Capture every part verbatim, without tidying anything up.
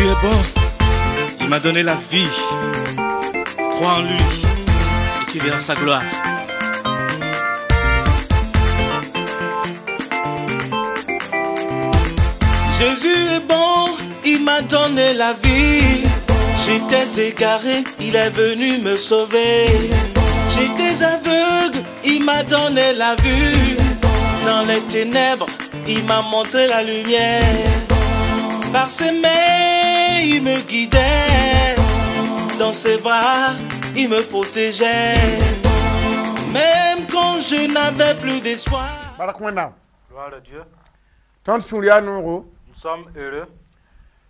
Jésus est bon. Il m'a donné la vie. Crois en lui et tu verras sa gloire. Jésus est bon, il m'a donné la vie. J'étais égaré, il est venu me sauver. J'étais aveugle, il m'a donné la vue. Dans les ténèbres, il m'a montré la lumière. Par ses mains, il me guidait. Dans ses bras, il me protégeait. Même quand je n'avais plus d'espoir. Gloire Gloire à Dieu. Nous Nous sommes heureux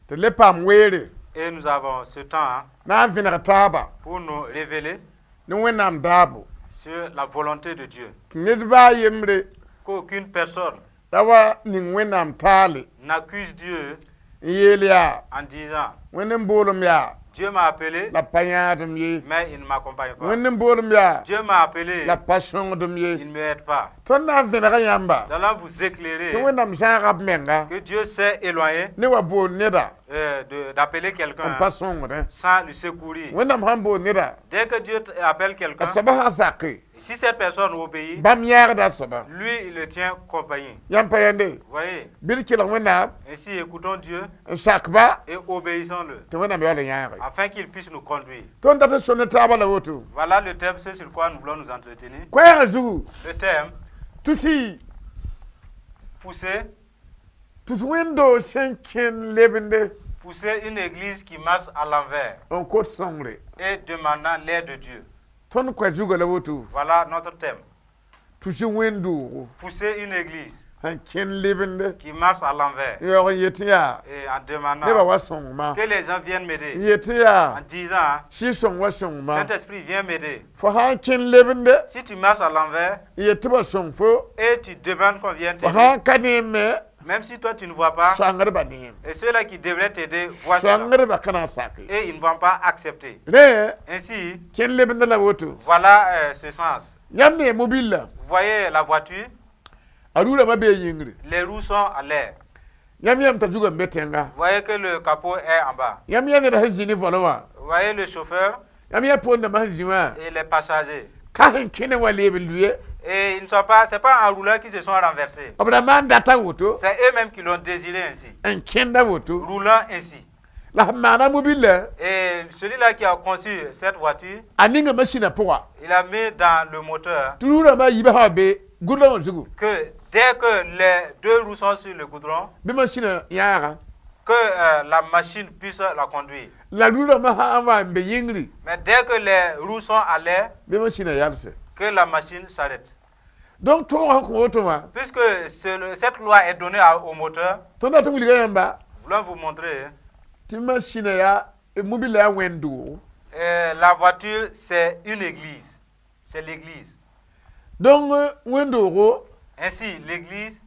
tɩ le paam weere et nous avons ce temps hein, na n vẽneg taaba pour nous révéler ne Wẽnnaam daabo sur la volonté de Dieu. tɩ ned baa a yembre Qu'aucune personne ra wa ning Wẽnnaam taale n'accuse Dieu n yeel yaa en disant Wẽnd n boolem yaa Dieu m'a appelé, la pa yãadem ye mais il ne m'accompagne pas. Wẽnd n boolem yaa Dieu m'a appelé, la pa sõngdem ye il ne m'aide pas. Tõnd na n vẽnega yãmba Nous allons vous éclairer tɩ Wẽnnaam zãaga b menga que Dieu s'est éloigné ne wa bool neda euh, de- d'appeler quelqu'un n hein, pa sõngdẽ sans le secourir. Wẽnnaam sãn bool neda Dès que Dieu t- appelle a quelqu'un, soaba sã n sake si cette personne obéit, bãmb yãagda a soaba lui, il le tient compagnie. Yãmb pa yãnde Vous voyez? Bɩ d kelg Wẽnnaam Ainsi, écoutons Dieu n sakba et obéissons-le tɩ Wẽnnaam yaool n yãage afin qu'il puisse nous conduire. Tõnd dat n sõnd ne taabã la woto Voilà le thème, c'est sur quoi nous voulons nous entretenir. Koɛɛgã zugu Le thème, tusi pousser, tus wẽnd-doog sẽn kẽn lebende pousser une église qui marche à l'envers n kot sõngre et demandant l'aide de Dieu. Tõnd koɛ zugã la woto Voilà notre thème. Tusi wẽnd-doogo Pousser une église sẽn kẽn lebende qui marche à l'envers n yaoog n yet tɩ yaa et en nebã demandant wa sõngma que les gens viennent m'aider. N yet tɩ yaa En disant, Sɩɩg-sõng wa sõngma Saint-Esprit, viens m'aider. Fo sã n kẽn lebende Si tu marches à l'envers n yet tɩ ba sõng fo et tu demandes qu'on vienne fo t'aider, sã n ka neem me même si toi tu ne vois pas, sõangdbã neem et ceux-là qui devraient t'aider voient cela. Sõangdbã ka na n sake Et ils ne vont pas accepter. Rẽ Ainsi, kẽn lebenda la woto voilà euh, ce sens. Yãmb ne mobile Vous voyez la voiture, a rurãmã bee yĩngri les roues sont à l'air. Yãmb yãmb t'a zugã n be tẽnga Vous voyez que le capot est en bas. Yãmb yã ned sẽn zĩ ne volẽ wã Vous voyez le chauffeur yãmb yã poondãmbã sẽn zĩ wã et les passagers. ka sẽn kẽne wã leeb n lʋɩ Et ils ne sont pas, c'est pas en roulant qu'ils se sont renversés. B ra maan data woto C'est eux-mêmes qui l'ont désiré ainsi, n kẽnda woto roulant ainsi. La sẽn maana mobile Et celui-là qui a conçu cette voiture, a ninga masĩnã pʋga il a mis dans le moteur tɩ rurãmbã yiibã sã wa be gʋdlã wã zugu que dès que les deux roues sont sur le goudron, bɩ masĩnã yãaga que euh, la machine puisse la conduire. La rurãmbã sã n wa n be yĩngri Mais dès que les roues sont à l'air, bɩ masĩnã yalse que la machine s'arrête. Donc tõogã sẽn kõ woto wã Puisque ce- cette loi est donnée à- au moteur, tõnd dat n wilga yãmba nous voulons vous montrer, hein, tɩ masĩnã yaa mobile yaa wẽnd-doogo euh, la voiture, c'est une église. C'est l'église. Donc wẽnd-doogo Ainsi, l'église,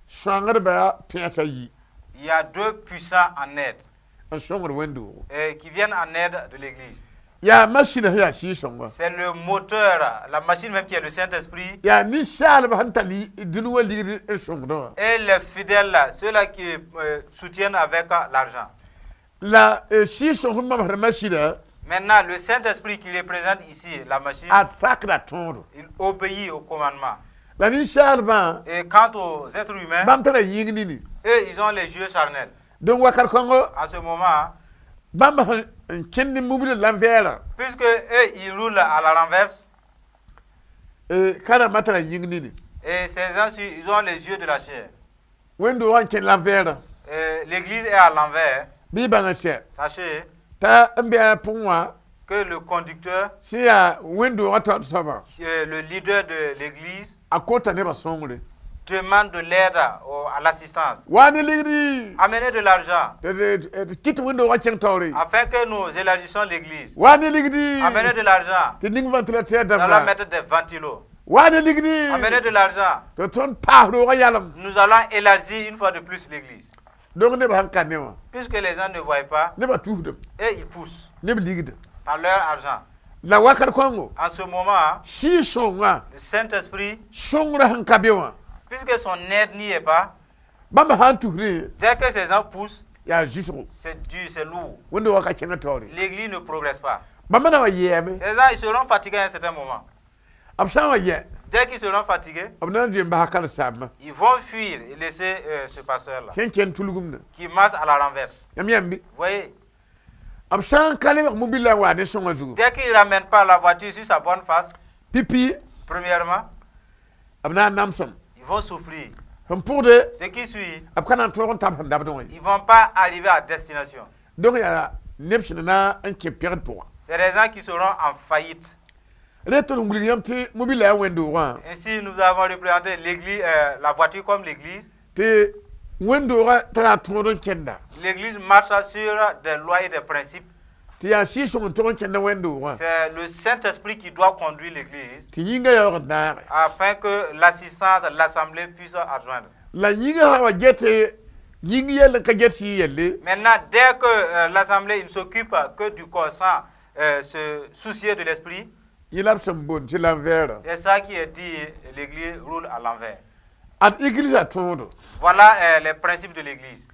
sõangdbã pẽesa yi il y a deux puissants en aide n sõngd wẽnd-doogo euh, qui viennent en aide de l'église. Yaa masĩnã sẽn yaa Sɩɩg-sõnga C'est le moteur, la machine même qui est le Saint-Esprit yaa ninsaalbã sẽn tar dũni wã ligd n sõngdẽ wã et les fidèles, ceux-là qui euh, soutiennent avec euh, l'argent. La Sɩɩg-sõng sẽn mamsd masĩnã Maintenant, le Saint-Esprit qui représente ici la machine, a sakda tõodo il obéit au commandement. La ninsaalbã Et quant aux êtres humains, bãmb tara yĩng nini eux, ils ont les yeux charnels. Donc wakat kõngo En ce moment, bãmb sẽn n kẽnd mobile l'envers puisque eux, ils roulent à la renverse, ka rãmbã tara yĩng nini et ces gens-ci, ils ont les yeux de la chair. Wẽnd-doogã n kẽnd l'envers Et L'église est à l'envers. Bɩ y bãng sɛ Sachez t'a n bɩ a pʋgẽ wã que le conducteur, sẽn yaa wẽnd-doogã taoor soabã euh, le leader de l'église, a kota nebã sõngre demande de l'aide au- à l'assistance. Wa ne ligdi Amenez de l'argent tɩ kɩt wẽnd-doogã kẽng taoore afin que nous élargissions l'église. Wa ne ligdi Amenez de l'argent. Tɩ ning ventilateur Nous allons dabla mettre des ventilos. Wa ne ligdi Amenez de l'argent. Tɩ tõnd paas roogã yalem Nous allons élargir une fois de plus l'église. Donc nebã sẽn ka ne wã Puisque les gens ne voient pas, nebã tusdem et ils poussent neb ligda par leur argent. La wakat kõngo En ce moment, Sɩɩg-sõngã le Saint-Esprit, sõngrã sẽn ka be wã puisque son aide n'y est pas, bãmb sã n tusdẽ dès que ces gens poussent, Yaa zʋsgo. C'est dur, c'est lourd. Wẽnd-doogã ka kẽngd taoore. L'église ne progresse pas. Bãmba na wa yɛɛme. Ces gens, ils seront fatigués à un certain moment. B sã n wa yɛ, Dès qu'ils seront fatigués, b na n zoe n basa karen-saambã ils vont fuir et laisser euh, ce pasteur-là sẽn kẽnd tulgumdã. Qui marche à la renverse. Yãmb yãmb bɩ? Vous voyez, B sã n ka lebg mobile la n wa ne sõngã zugu, dès qu'il ne ramène pas la voiture sur sa bonne face, pipi, premièrement, b na n namsem. Ils vont souffrir. Sẽn pʋgde, Ce qui suit, b ka na n tõog n tab sẽn dabdẽ wã ye. Ils ne vont pas arriver à destination. Donc yaa neb sẽn na n kẽ pegd pʋgã. C'est des gens qui seront en faillite. Rẽ tɩ d wilg yãmb tɩ mobile la yaa wẽnd-doogã. Ainsi, nous avons représenté l'église, euh, la voiture comme l'église. Tɩ wẽnd-doogã tara tõod n kẽnda. L'église marche sur des lois et des principes. Tɩ yaa Sɩɩg-sõng n tog n kẽnda wẽnd-doogã. C'est le Saint-Esprit qui doit conduire l'église Tɩ yĩngã yaoog n naage. Afin que l'assistance, l'assemblée puisse adjoindre. La yĩngã sã wa get yĩng yell n ka get sɩɩg yelle, Maintenant, dès que euh, l'assemblée ne s'occupe que du corps sans euh, se soucier de l'esprit, yẽ la b sẽn boond tɩ l'envers. C'est ça qui est dit, l'église roule à l'envers. Ad église tõodo. Voilà euh, les principes de l'église.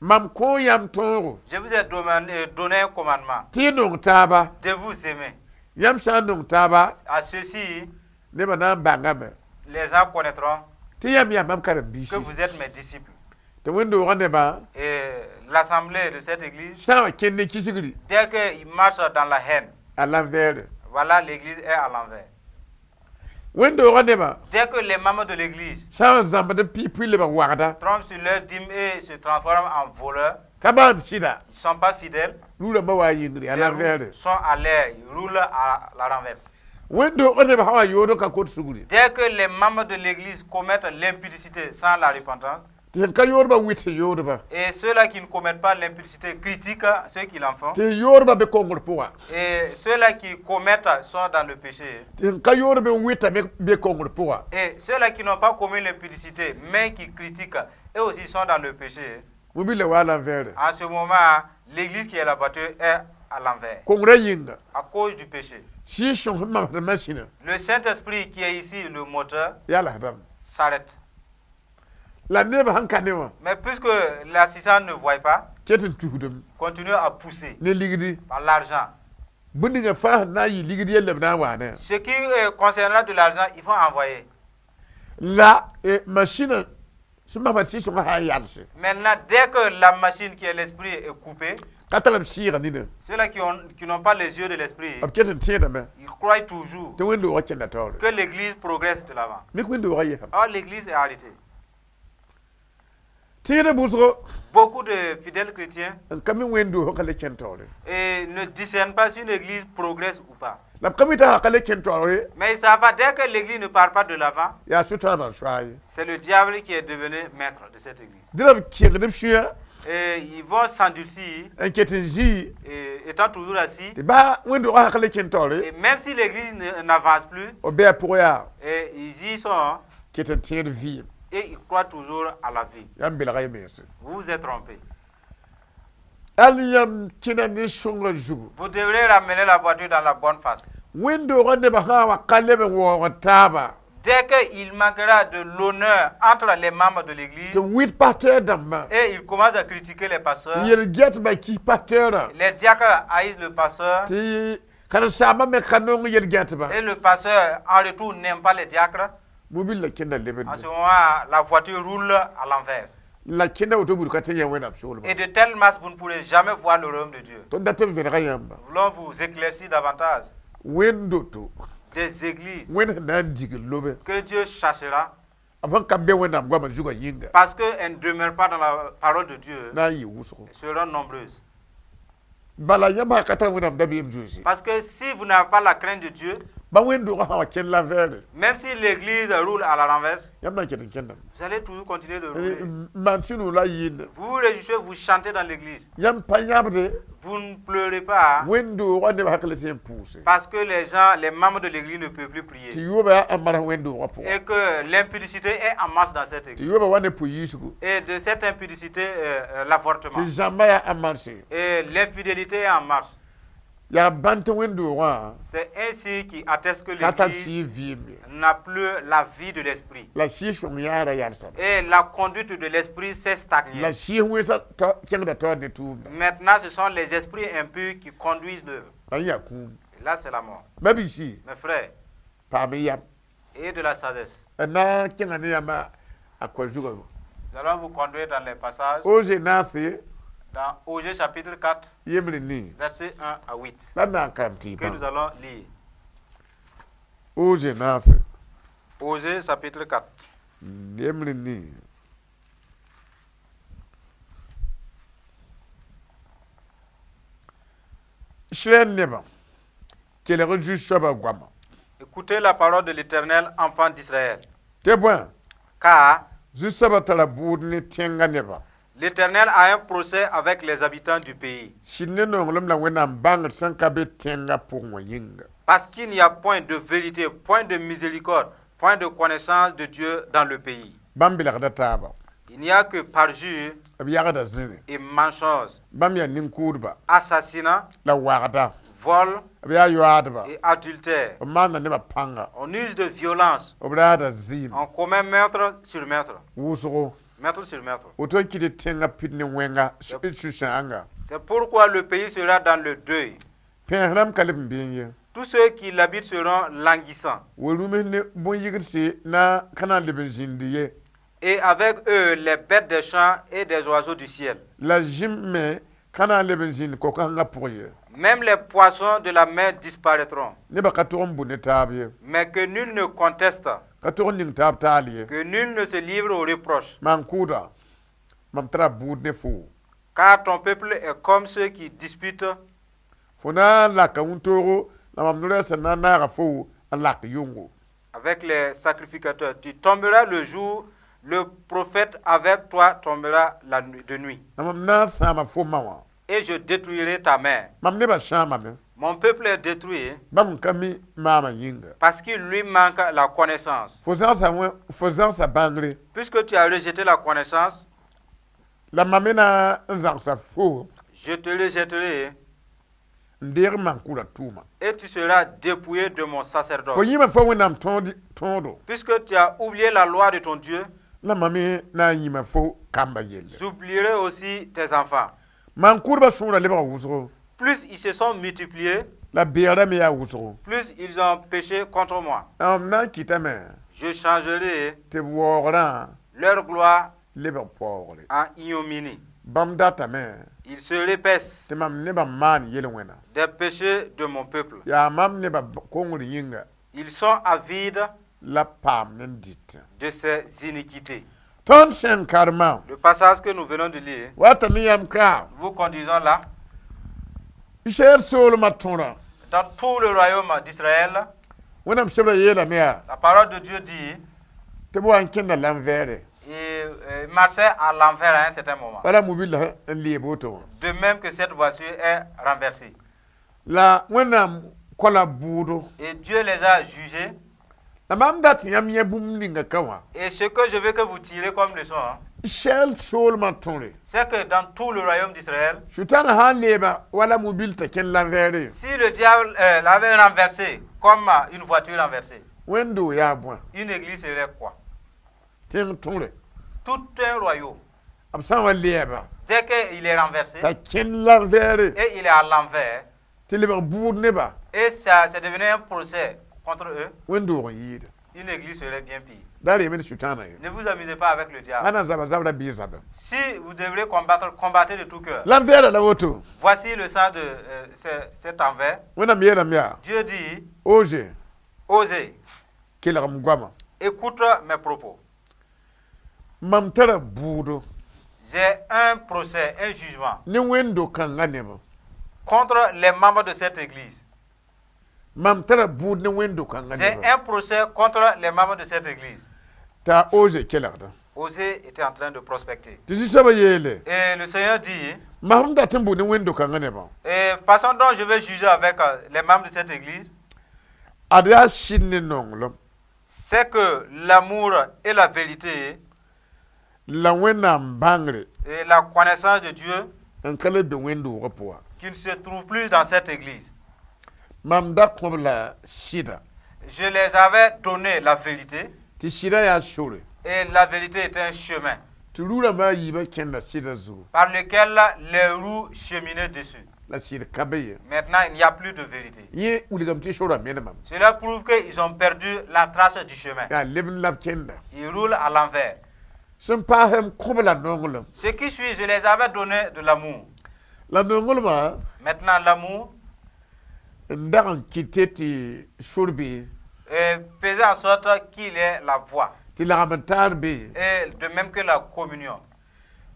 Mam kõ yãmb tõogo. Je vous ai demandé- euh, donné un commandement Tɩ y nong taaba. De vous aimer. Yãmb sã n nong taaba, À ceci, nebã na n bãngame les gens connaîtront tɩ yãmb yaa mam karen-biisi. Que vous êtes mes disciples. Tɩ wẽnd-doogã nebã Et l'assemblée de cette église, sã n wa kẽnd ne kisgri, dès qu'ils marchent dans la haine, à l'envers. Voilà, l'église est à l'envers. Wẽnd-doogã nebã Dès que les membres de l'église sã n zãmbd b piig lebg wagda, trompent sur leur dîme et se transforment en voleurs, ka maan sɩda, ils ne sont pas fidèles, rũrãmbã wa yĩngri à les l'envers. Roues sont à l'air, ils roulent à la renverse. Wẽnd-doogã nebã sã wa yood n ka kot sugri, Dès que les membres de l'église commettent l'impudicité sans la repentance, tɩ sẽn ka yoodbã wɩt sẽn yoodba, et ceux-là qui ne commettent pas l'impudicité critiquent ceux qui l'en font, tɩ yoodbã be kongr pʋga, et ceux-là qui commettent sont dans le péché, tɩ sẽn ka yoodb n wɩta me be kongr pʋga. Et ceux-là qui n'ont pas commis l'impudicité, mais qui critiquent, eux aussi sont dans le péché. Mobile wa à l'envers. En ce moment, l'église qui est la voiture est à l'envers, Kongrã yĩnga, à cause du péché. Sɩɩg-sõng sẽn mamsd masĩnã, Le Saint-Esprit qui est ici, le moteur, yaa lasdame. S'arrête. La nebã sẽn ka ne wã, Mais puisque l'assistant ne voit pas, ket n tusdem continue à pousser ne ligdi. Par l'argent. Bũmb ninga fãa sẽn na n yɩ ligd yelle b na n waane. Ce qui euh, concernera de l'argent, ils vont envoyer. La eh, masĩnã sẽn masma sɩɩg-sõngã sã n yalse, Maintenant, dès que la machine qui est l'esprit est coupée, ka tar b sɩɩga nina, ceux-là qui ont- qui n'ont pas les yeux de l'esprit, b ket n tẽedame ils croient toujours tɩ wẽnd-doogã kẽnda taoore. Que l'église progresse de l'avant. Mik wẽnd-doogã yesame. Or, l'église est arrêtée. Tẽedã bʋsgo Beaucoup de fidèles chrétiens n ka mi wẽnd-doogã ka le kẽnd taoore. Et ne discernent pas si une église progresse ou pas. La b ka mi t'a ka le kẽnd taoore, Mais ils savent pas, dès que l'église ne part pas de l'avant, yaa sʋtãanã n soa ye. C'est le diable qui est devenu maître de cette église. Dẽ la b kẽngd b sũyã Et ils vont s'endurcir, n ket n zĩ et étant toujours assis. Tɩ baa wẽnd-doogã sã ka le kẽnd taoore, Et même si l'église ne- n'avance plus, b bɩ a pʋgã yaa et ils y sont, ket n tẽed vɩɩm. Et ils croient toujours à la vie. Yãmb belga y mense. Vous vous êtes trompés. Al yãmb kẽna ne sõngã zugu. Vous devrez ramener la voiture dans la bonne face. Wẽnd-doogã nebã sã n wa ka leb n waoog taaba, Dès qu'il manquera de l'honneur entre les membres de l'église, tɩ wɩt pasteur dãmbã, et il commence à critiquer les pasteurs, tɩ yel-gɛtbã kis pasteurã, les diacres haïssent le pasteur, tɩ karen-saambã me ka nong yel-gɛtbã, et le pasteur en retour n'aime pas les diacres, mobil la kẽnda lebende. En ce moment, la voiture roule à l'envers. La kẽnda woto buud ka tẽ yã Wẽnnaam soolmã. Et de telle masse, vous ne pourrez jamais voir le royaume de Dieu. Tõnd dat n vẽnega yãmba. Nous voulons vous éclaircir davantage Wẽnd-doto, des églises Wẽnd sẽn na n dig n lobe, que Dieu chassera b sẽn ka be Wẽnnaam goamã zugã yĩnga, parce qu'elles ne demeurent pas dans la parole de Dieu, na n yɩ wʋsgo. Elles seront nombreuses. Bala yãmb sã ka tar Wẽnnaam dabeem zoeese, Parce que si vous n'avez pas la crainte de Dieu, ba wẽnd-doogã sã wa kẽnd l'envers, même si l'église roule à la renverse, yãmb na n ket n kẽndame. Vous allez toujours continuer de rouler. N maan sũ-noog la yɩɩnd. Vous vous réjouissez, vous chantez dans l'église. Yãmb pa yãbde Vous ne pleurez pas wẽnd-doogã nebã sã ka le tɩ n pʋʋse. Parce que les gens, les membres de l'église ne peuvent plus Tɩ prier. yoobã yaa n marg wẽnd-doogã pʋgã. Et que l'impudicité est en marche dans cette Tɩ église. yoobã wa ne pʋ-yiisgo. Et de cette impudicité, euh, euh, l'avortement. Tɩ zãmba yaa en marche. Et l'infidélité est en marche. Yaa bãn tɩ wẽnd-doogã C'est ainsi qui atteste que ka tar l'église sɩɩg vɩɩm ye. N'a plus la vie de l'esprit. La sɩɩg sõng yaara yalsame. Et la conduite de l'esprit s'est stagnée. La sɩɩg wẽnsã kẽngda taoor ne tʋʋmda. Maintenant, ce sont les esprits impurs qui conduisent l'œuvre. La yaa kũum. Et là, c'est la mort. Ba-biisi, Mes frères, paam yam. Et de la sagesse. D na n kẽnga ne yãmba a koa zugã. Nous allons vous conduire dans les passages. Oze naase Dans Osée chapitre quatre, yembre nii versets un à huit, la d na n karem tɩ que nous allons lire. Oze naase Osée chapitre quatre. Yembre nii Israɛl nebã kelg Zu-soabã goama. Écoutez la parole de l'Éternel, enfant d'Israël. Tɩ bõe Car Zu-soabã tara bʋʋd ne tẽngã nebã. l'Éternel a un procès avec les habitants du pays. Sɩd ne nonglem la Wẽnnaam bãngr sẽn ka be tẽngã pʋgẽ wã yĩnga. Parce qu'il n'y a point de vérité, point de miséricorde, point de connaissance de Dieu dans le pays. Bãmb belgda taaba. Il n'y a que parjure B yagda zĩre. Et mensonge, Bãmb yaa nin-kʋʋdba assassinat, la wagda. Vol B yaa yoaadba. Et adultère. B maanda nebã pãnga. On use de violence, B raada zɩɩm. On commet meurtre sur meurtre, Wʋsgo. Meurtre sur meurtre. Woto n kɩt tɩ tẽngã pid ne wẽnga sũ-sãanga. C'est pourquoi le pays sera dans le deuil. Pẽes rãmb ka leb n beẽ ye. Tous ceux qui l'habitent seront languissants. Wa-rũms ne bõn-yigdse na ka na n leb n zĩndi ye. Et avec eux, les bêtes des champs et des oiseaux du ciel. La zĩm me ka na n leb n zĩnd ko-kãngã pʋg ye. Même les poissons de la mer disparaîtront. Nebã ka tog n bũ ne taab ye. Mais que nul ne conteste, Ka tog n ning taab taal ye. Que nul ne se livre au reproche. Maan-kʋʋda mam tara bʋʋd ne foo. Car ton peuple est comme ceux qui disputent Fo na n laka wĩntoogo la mam no-rɛɛs sẽn na n naaga fo n lak yʋngo. Avec les sacrificateurs. Tu tomberas le jour, le prophète avec toi tombera la nuit, de nuit. La mam na n sãama fo ma wã. Et je détruirai ta mère. Mam nebã sãamame. Mon peuple est détruit Bãmb n ka mi maamã yĩnga. Parce qu'il lui manque la connaissance. Fo zãgsa wẽ fo zãgsa bãngre. Puisque tu as rejeté la connaissance, La mam me na n zãgsa fo je te rejetterai n deeg maan-kʋʋdã tʋʋma. Et tu seras dépouillé de mon sacerdoce. Fo yĩma fo Wẽnnaam tõod tõodo. Puisque tu as oublié la loi de ton Dieu, La mam me na n yĩma fo kamba yelle. J'oublierai aussi tes enfants. Maan-kʋʋdbã sõora lebga wʋsgo. Plus ils se sont multipliés, La beegrã me yaa wʋsgo. Plus ils ont péché contre moi. La mam na n kɩtame Je changerai tɩ b waoogrã leur gloire lebg paoogre. En ignominie. Bãmb datame Ils se repaissent tɩ mam nebã maan yel-wẽna. Des péchés de mon peuple. Yaa mam nebã kongr yĩnga Ils sont avides la paam ne dɩtẽ. De ces iniquités. Tõnd sẽn karemã Le passage que nous venons de lire, wata ne yãmb ka vous conduisons là, Israɛl soolmã tõrã dans tout le royaume d'Israël, Wẽnnaam sebra yeelame yaa la parole de Dieu dit, tɩ b wa n kẽnda l'envers. Il euh, marchait à l'envers à un certain moment. Wala mobil-la n leeb woto wã. De même que cette voiture est renversée. La Wẽnnaam kola bʋʋdo. Et Dieu les a jugés. La mam dat tɩ yãmb yẽ bũmb ninga ka wã. Et ce que je veux que vous tirez comme leçon, hein, Israɛl soolmã tõre. C'est que dans tout le royaume d'Israël, Sʋtãana sã n leeba wala mobil t'a kẽn l'envers. Si le diable euh, l'avait renversé comme euh, une voiture renversée, Wẽnd-doog yaa bõe? Une église serait quoi? Tẽng tõre. Tout un royaume. B sã n wa leeba Dès qu'il est renversé t'a kẽn l'envers et il est à l'envers, tɩ lebg bʋʋd nebã. Et ça, c'est devenu un procès contre eux, Wẽnd-doog n yɩɩda. Une église serait bien pire. Da reem ne Sʋtãana ye. Ne vous amusez pas avec le diable. Ãnna zaba zabra bɩ zaba. Si vous devrez combattre, combattez de tout cœur. L'envers la woto. Voici le sens de euh, ce- cet envers. Wẽnnaam yeelame yaa. Dieu dit, Oze Osée, kelg m goama. Écoute mes propos. Mam tara bʋʋdo J'ai un procès, un jugement ne wẽnd-do-kãngã nebã. Contre les membres de cette église. Mam tara bʋʋd ne wẽnd-do-kãngã J'ai nebã. Un procès contre les membres de cette église. T'a Oze kelgda. Osée était en train de prospecter. Tɩ Zu-soabã yeele. Et le Seigneur dit, Mam sẽn dat n bʋ ne wẽnd-do-kãngã nebã. Et façon dont je vais juger avec euh, les membres de cette église, Ad yaa sɩd ne nonglem. C'est que l'amour et la vérité La Wẽnnaam bãngre et la connaissance de Dieu n ka le be wẽnd-doogã pʋga. Qui ne se trouve plus dans cette église. Mam da kõ b la sɩda. Je les avais donné la vérité Tɩ sɩda yaa sore. et la vérité est un chemin Tɩ rurãmbã a yiibã kẽnda sɩda zugu. par lequel les roues cheminaient dessus. La sɩd ka be ye. Maintenant, il n'y a plus de vérité. Yẽ wilgame tɩ sorã menemame. Cela prouve qu'ils ont perdu la trace du chemin. Yaa lebd la b kẽnda. Ils roulent à l'envers. Sẽn paasem m kõ b la nonglem. Ce qui suit, je les avais donné de l'amour. La nonglmã Maintenant, l'amour n dag n kɩte tɩ sor be, euh, faisait en sorte qu'il ait la voie. Tɩ lagm n taar be. Et de même que la communion.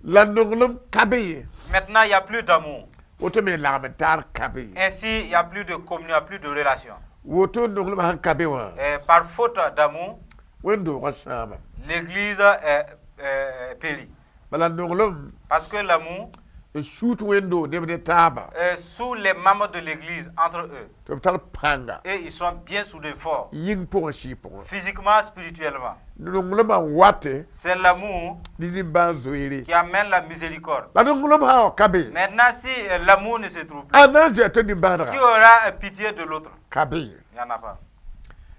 La nonglem ka be ye. Maintenant, il n'y a plus d'amour. Woto me lagm n taar ka be ye. Ainsi, il n'y a plus de communion, il n'y a plus de relation. Woto nonglmã sẽn ka be wã, Et par faute d'amour, wẽn-doogã sãama. l'église est, est périt. Bala nonglem Parce que l'amour n suut wẽn-doog neb ne taaba est sous les membres de l'église entre eux. Tɩ b tar pãnga Et ils sont bien soudés forts, yĩng pʋgẽ sɩɩ pʋgẽ. physiquement, spirituellement. Nonglmã n wate C'est l'amour ne nimbãan zoeere. qui amène la miséricorde. La nonglem sã n wa ka be, Maintenant, si euh, l'amour ne se trouve plus, a na n zoa tɩ qui nimbãanega aura euh, pitié de l'autre? Ka be ye. Il n'y en a pas.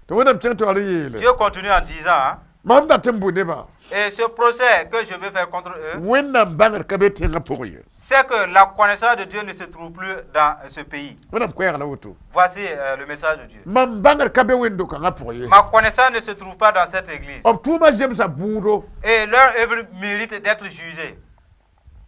Tɩ Wẽnnaam kẽng taoor n yeele Dieu continue en disant, hein, mam dat n bʋ nebã et ce procès que je vais faire contre eux, Wẽnnaam bãngd ka be tẽngã pʋgẽ ye. c'est que la connaissance de Dieu ne se trouve plus dans ce pays. Wẽnnaam koɛɛg la woto. Voici euh, le message de Dieu. Mam bãngd ka be wẽnd-do-kãngã pʋgẽ ye. Ma connaissance ne se trouve pas dans cette église. B tʋʋmã zemsa bʋʋdo. Et leur œuvre mérite d'être jugée.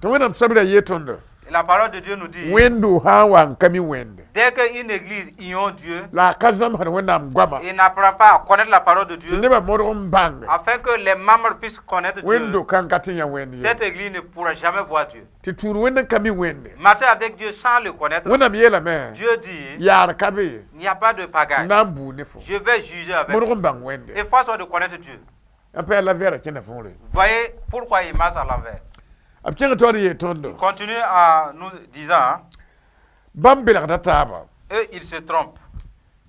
Tɩ Wẽnnaam sabra yee tõndo Et la parole de Dieu nous dit, wẽnd-do sã n wa n ka mi Wẽnde dès qu'une église ignore Dieu la a ka zãmsd Wẽnnaam goama et n'apprend pas à connaître la parole de tɩ Dieu, nebã modg n bãng afin que les membres puissent connaître Dieu, wẽnd-do-kãng ka tɩ yã Wẽnd ye. cette église ne pourra jamais voir Dieu. Tɩ tũud Wẽnd n ka mi Wẽnde. Marcher avec Dieu sans le connaître, Wẽnnaam yeelame Dieu dit, yaar ka be il n'y a pas de n pagaille. na n buu ne fo. Je vais juger avec. Modg n bãng Wẽnde. Et force de connaître Dieu. A pa yaa la vɛɛra kẽnda võore. Voyez pourquoi il marche à l'envers. B kẽng taoor n yeel tõndo Continue en nous disant, hein, bãmb belgda taaba eux, ils se trompent.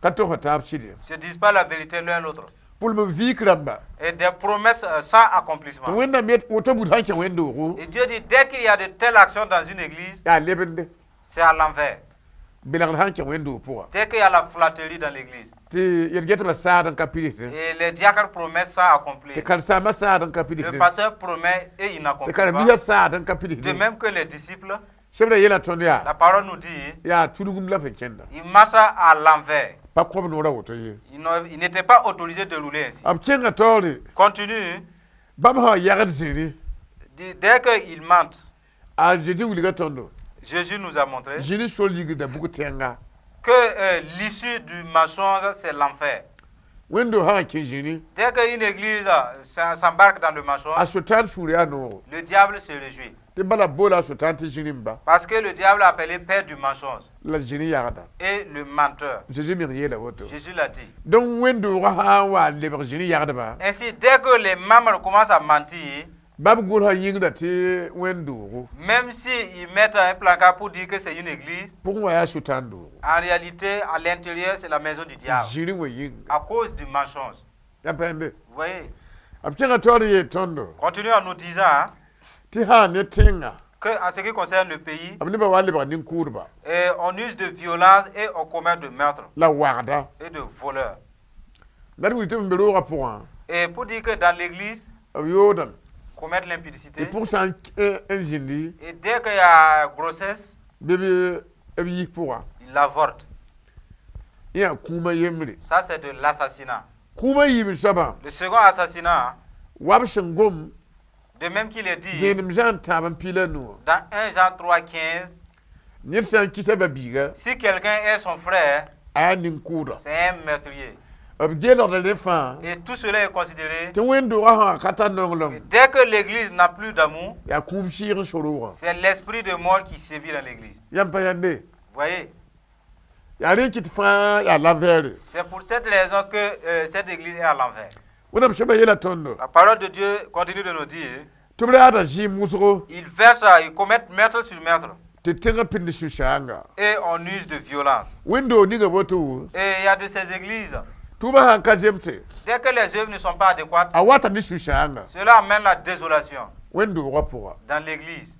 Ka togsd taab sɩd. Ils ne se disent pas la vérité l'un l'autre. Pʋlem viik rãmba Et des promesses euh, sans tɩ accomplissement. Wẽnnaam yet woto bud sãn kẽ wẽn-doogo Et Dieu dit, dès qu'il y a de telles actions dans une église, yaa lebende. C'est à l'envers. Belgd sãn kẽ wẽn-doog pʋga Dès qu'il y a la flatterie dans l'église, tɩ yel-getbã saad n ka pidsd et les diacres promettent sans tɩ accomplir. karen-saambã saad n ka Le pidsd pasteur promet et il tɩ n'accomplit karen-biisã pas. saad n ka De pidsd même que les disciples, Sebra yeela tõnd yaa la parole nous dit, yaa tudgum la f kẽnda. il marche à l'envers. Pa kõb noorã woto ye. Il n'a- il n'était pas autorisé de rouler ainsi. B kẽnga taoore Continue. bãmb sã yagd zĩri Dit, dès qu'ils mentent, a Zeezi wilga tõndo Jésus nous a montré zĩri sol yigda bug tẽnga que euh, l'issue du mensonge, c'est l'enfer. Wẽnd-do sã n kẽ zĩri Dès qu'une église euh, s'em- s'embarque dans le mensonge, a Sʋtãan sũur yaa noogo le diable se réjouit. Tɩ bala boola a Sʋtãan tɩ zĩri n ba Parce que le diable est appelé père du mensonge la zĩri yagda. Et le menteur. Zeezi meng yeela woto. Jésus l'a dit. Donc wẽn-doogã sã n wa n lebg zĩri yagdba Ainsi, dès que les membres commencent à mentir, bãmb gʋlsã yĩngda tɩ wẽn-doogo même s'ils mettent un placard pour dire que c'est une église, pʋgẽ wã yaa Sʋtãan doogo. En réalité, à l'intérieur, c'est la maison du diable. Zĩri wã yĩnga. À cause du mensonge. Ya pẽnde. Vous voyez? B kẽngã taoor n yeel tõndo Continue en nous disant, hein, tɩ sã n ne tẽnga que en ce qui concerne le pays, b nebã wa n lebg nin-kʋʋdba et on use de violence et on commet de meurtre la wagda. Et de voleurs. La d wilg tɩ b be roogã pʋgã Et pour dire que dans l'église, b yoodame commettre tɩ l'impudicité, pʋg sã n n zĩndi et dès qu'il y a grossesse, bɩ b b yis pʋga il avorte. Yã kũumã yembre. Ça, c'est de l'assassinat. Kũumã yiib soabã Le second assassinat, wa b sẽn gom de même qu'il est dit dẽenem zã n tãab n piila nuwã dans un Jean trois, quinze, ned sã n kisa ba-biiga si quelqu'un est son frère, a yaa nin-kʋʋda. C'est un meurtrier. B geelgda rẽ fãa Et tout cela est considéré. Tɩ wẽn-doogã sã ka tar nonglem Dès que l'église n'a plus d'amour, yaa kũum sɩɩg n soroogã. C'est l'esprit de mort qui sévit dans l'église. Yãmb pa yãnde Vous voyez? Yaa rẽ kɩt fãa yaa l'envers. C'est pour cette raison que euh, cette église est à l'envers. Wẽnnaam soabã yeela tõndo La parole de Dieu continue de nous dire, tɩ b raada zɩɩm wʋsgo ils versent, ils commettent meurtre sur meurtre tɩ tẽngã pĩnd sũ-sãanga. Et on use de violence. Wẽn-doog ninga woto Et il y a de ces églises, tʋʋmã sãn ka zemse dès que les œuvres ne sont pas adéquates, a wata ne sũ-sãanga cela amène la désolation wẽn-doogã pʋga. Dans l'église.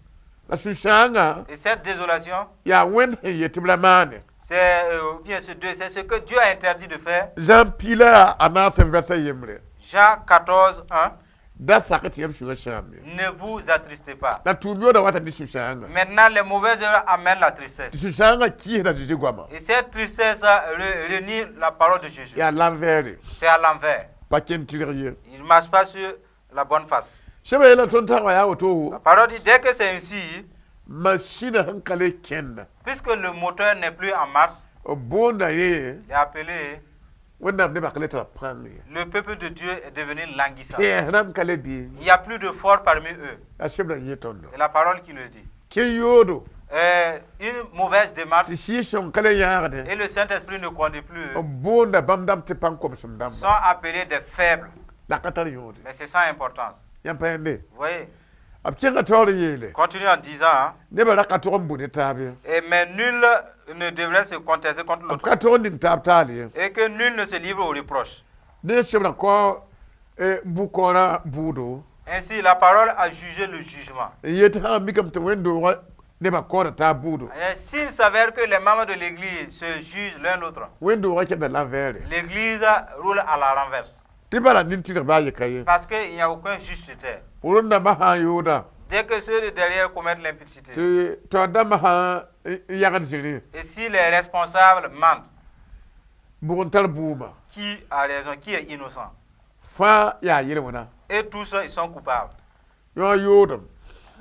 La sũ-sãanga Et cette désolation, yaa Wẽnd sẽn yet tɩ b ra maane. C'est C'est euh, bien ce deux, c'est ce que Dieu a interdit de faire. Zã piig la a naas n vɛrsa yembre. Jean quatorze, un. Da sak tɩ yãmb sũyã sãam ye. Ne vous attristez pas. La tʋʋm yooda wata ne sũ-sãanga. Maintenant, les mauvaises œuvres amènent la tristesse. Tɩ sũ-sãangã kɩɩsda Zeezi goama. Et cette tristesse re- renie la parole de Jésus. Yaa l'envers. C'est à l'envers. Pa kẽn tɩrg ye. Il ne marche pas sur la bonne face. Sẽba yeela tõnd tagma yaa woto. La parole dit, dès que c'est ainsi, masĩnã sẽn ka le kẽnda, puisque le moteur n'est plus en marche, b boonda ye il est appelé, Wẽnnaam nebã ka le tara pãng ye. Le peuple de Dieu est devenu languissant. Tẽes rãmb ka le bee. Il n'y a plus de force parmi eux. A sebra yẽ tõndo. C'est la parole qui le dit. Kẽ yoodo. Euh, une mauvaise démarche Tɩ Sɩɩg-sõng ka le yãagdẽ. Et le Saint-Esprit ne conduit plus B boonda bãmb dãmb tɩ pãng komsem dãmba. Sont appelés des faibles. La ka tar yõode. Mais c'est sans importance. Yãmb pa yẽnde. Vous voyez? B kẽngã taoor n yeele. Continue en disant, hein, Nebã ra ka tog n bũ ne taab ye. Et mais nul ne devrait se contester contre B l'autre. Ka tog n ning taab taal ye. Et que nul ne se livre aux reproches. Ne sebra kao bu-kaoorã bʋʋdo. Ainsi, la parole a jugé le jugement. N yet sã n mikame tɩ wẽnd-doogã nebã kaoora taab bʋʋdo. Et s'il s'avère que les membres de l'Église se jugent l'un l'autre, Wẽnd-doogã kẽnda l'envers. l'Église roule à la renverse. Tɩ bala nin-tɩrg baa ye ka ye. Parce qu'il n'y a aucun juste sur terre. Rõnd-dãmbã sã n yooda. Dès que ceux de derrière commettent l'impudicité, Tɩ taoor dãmbã sã n yagd zĩrĩ. Et si les responsables mentent, Bʋg n tar bʋʋmã. Qui a raison, qui est innocent? Fãa yaa yel-wẽna. Et tous, ils sont coupables. Yõ yoodem.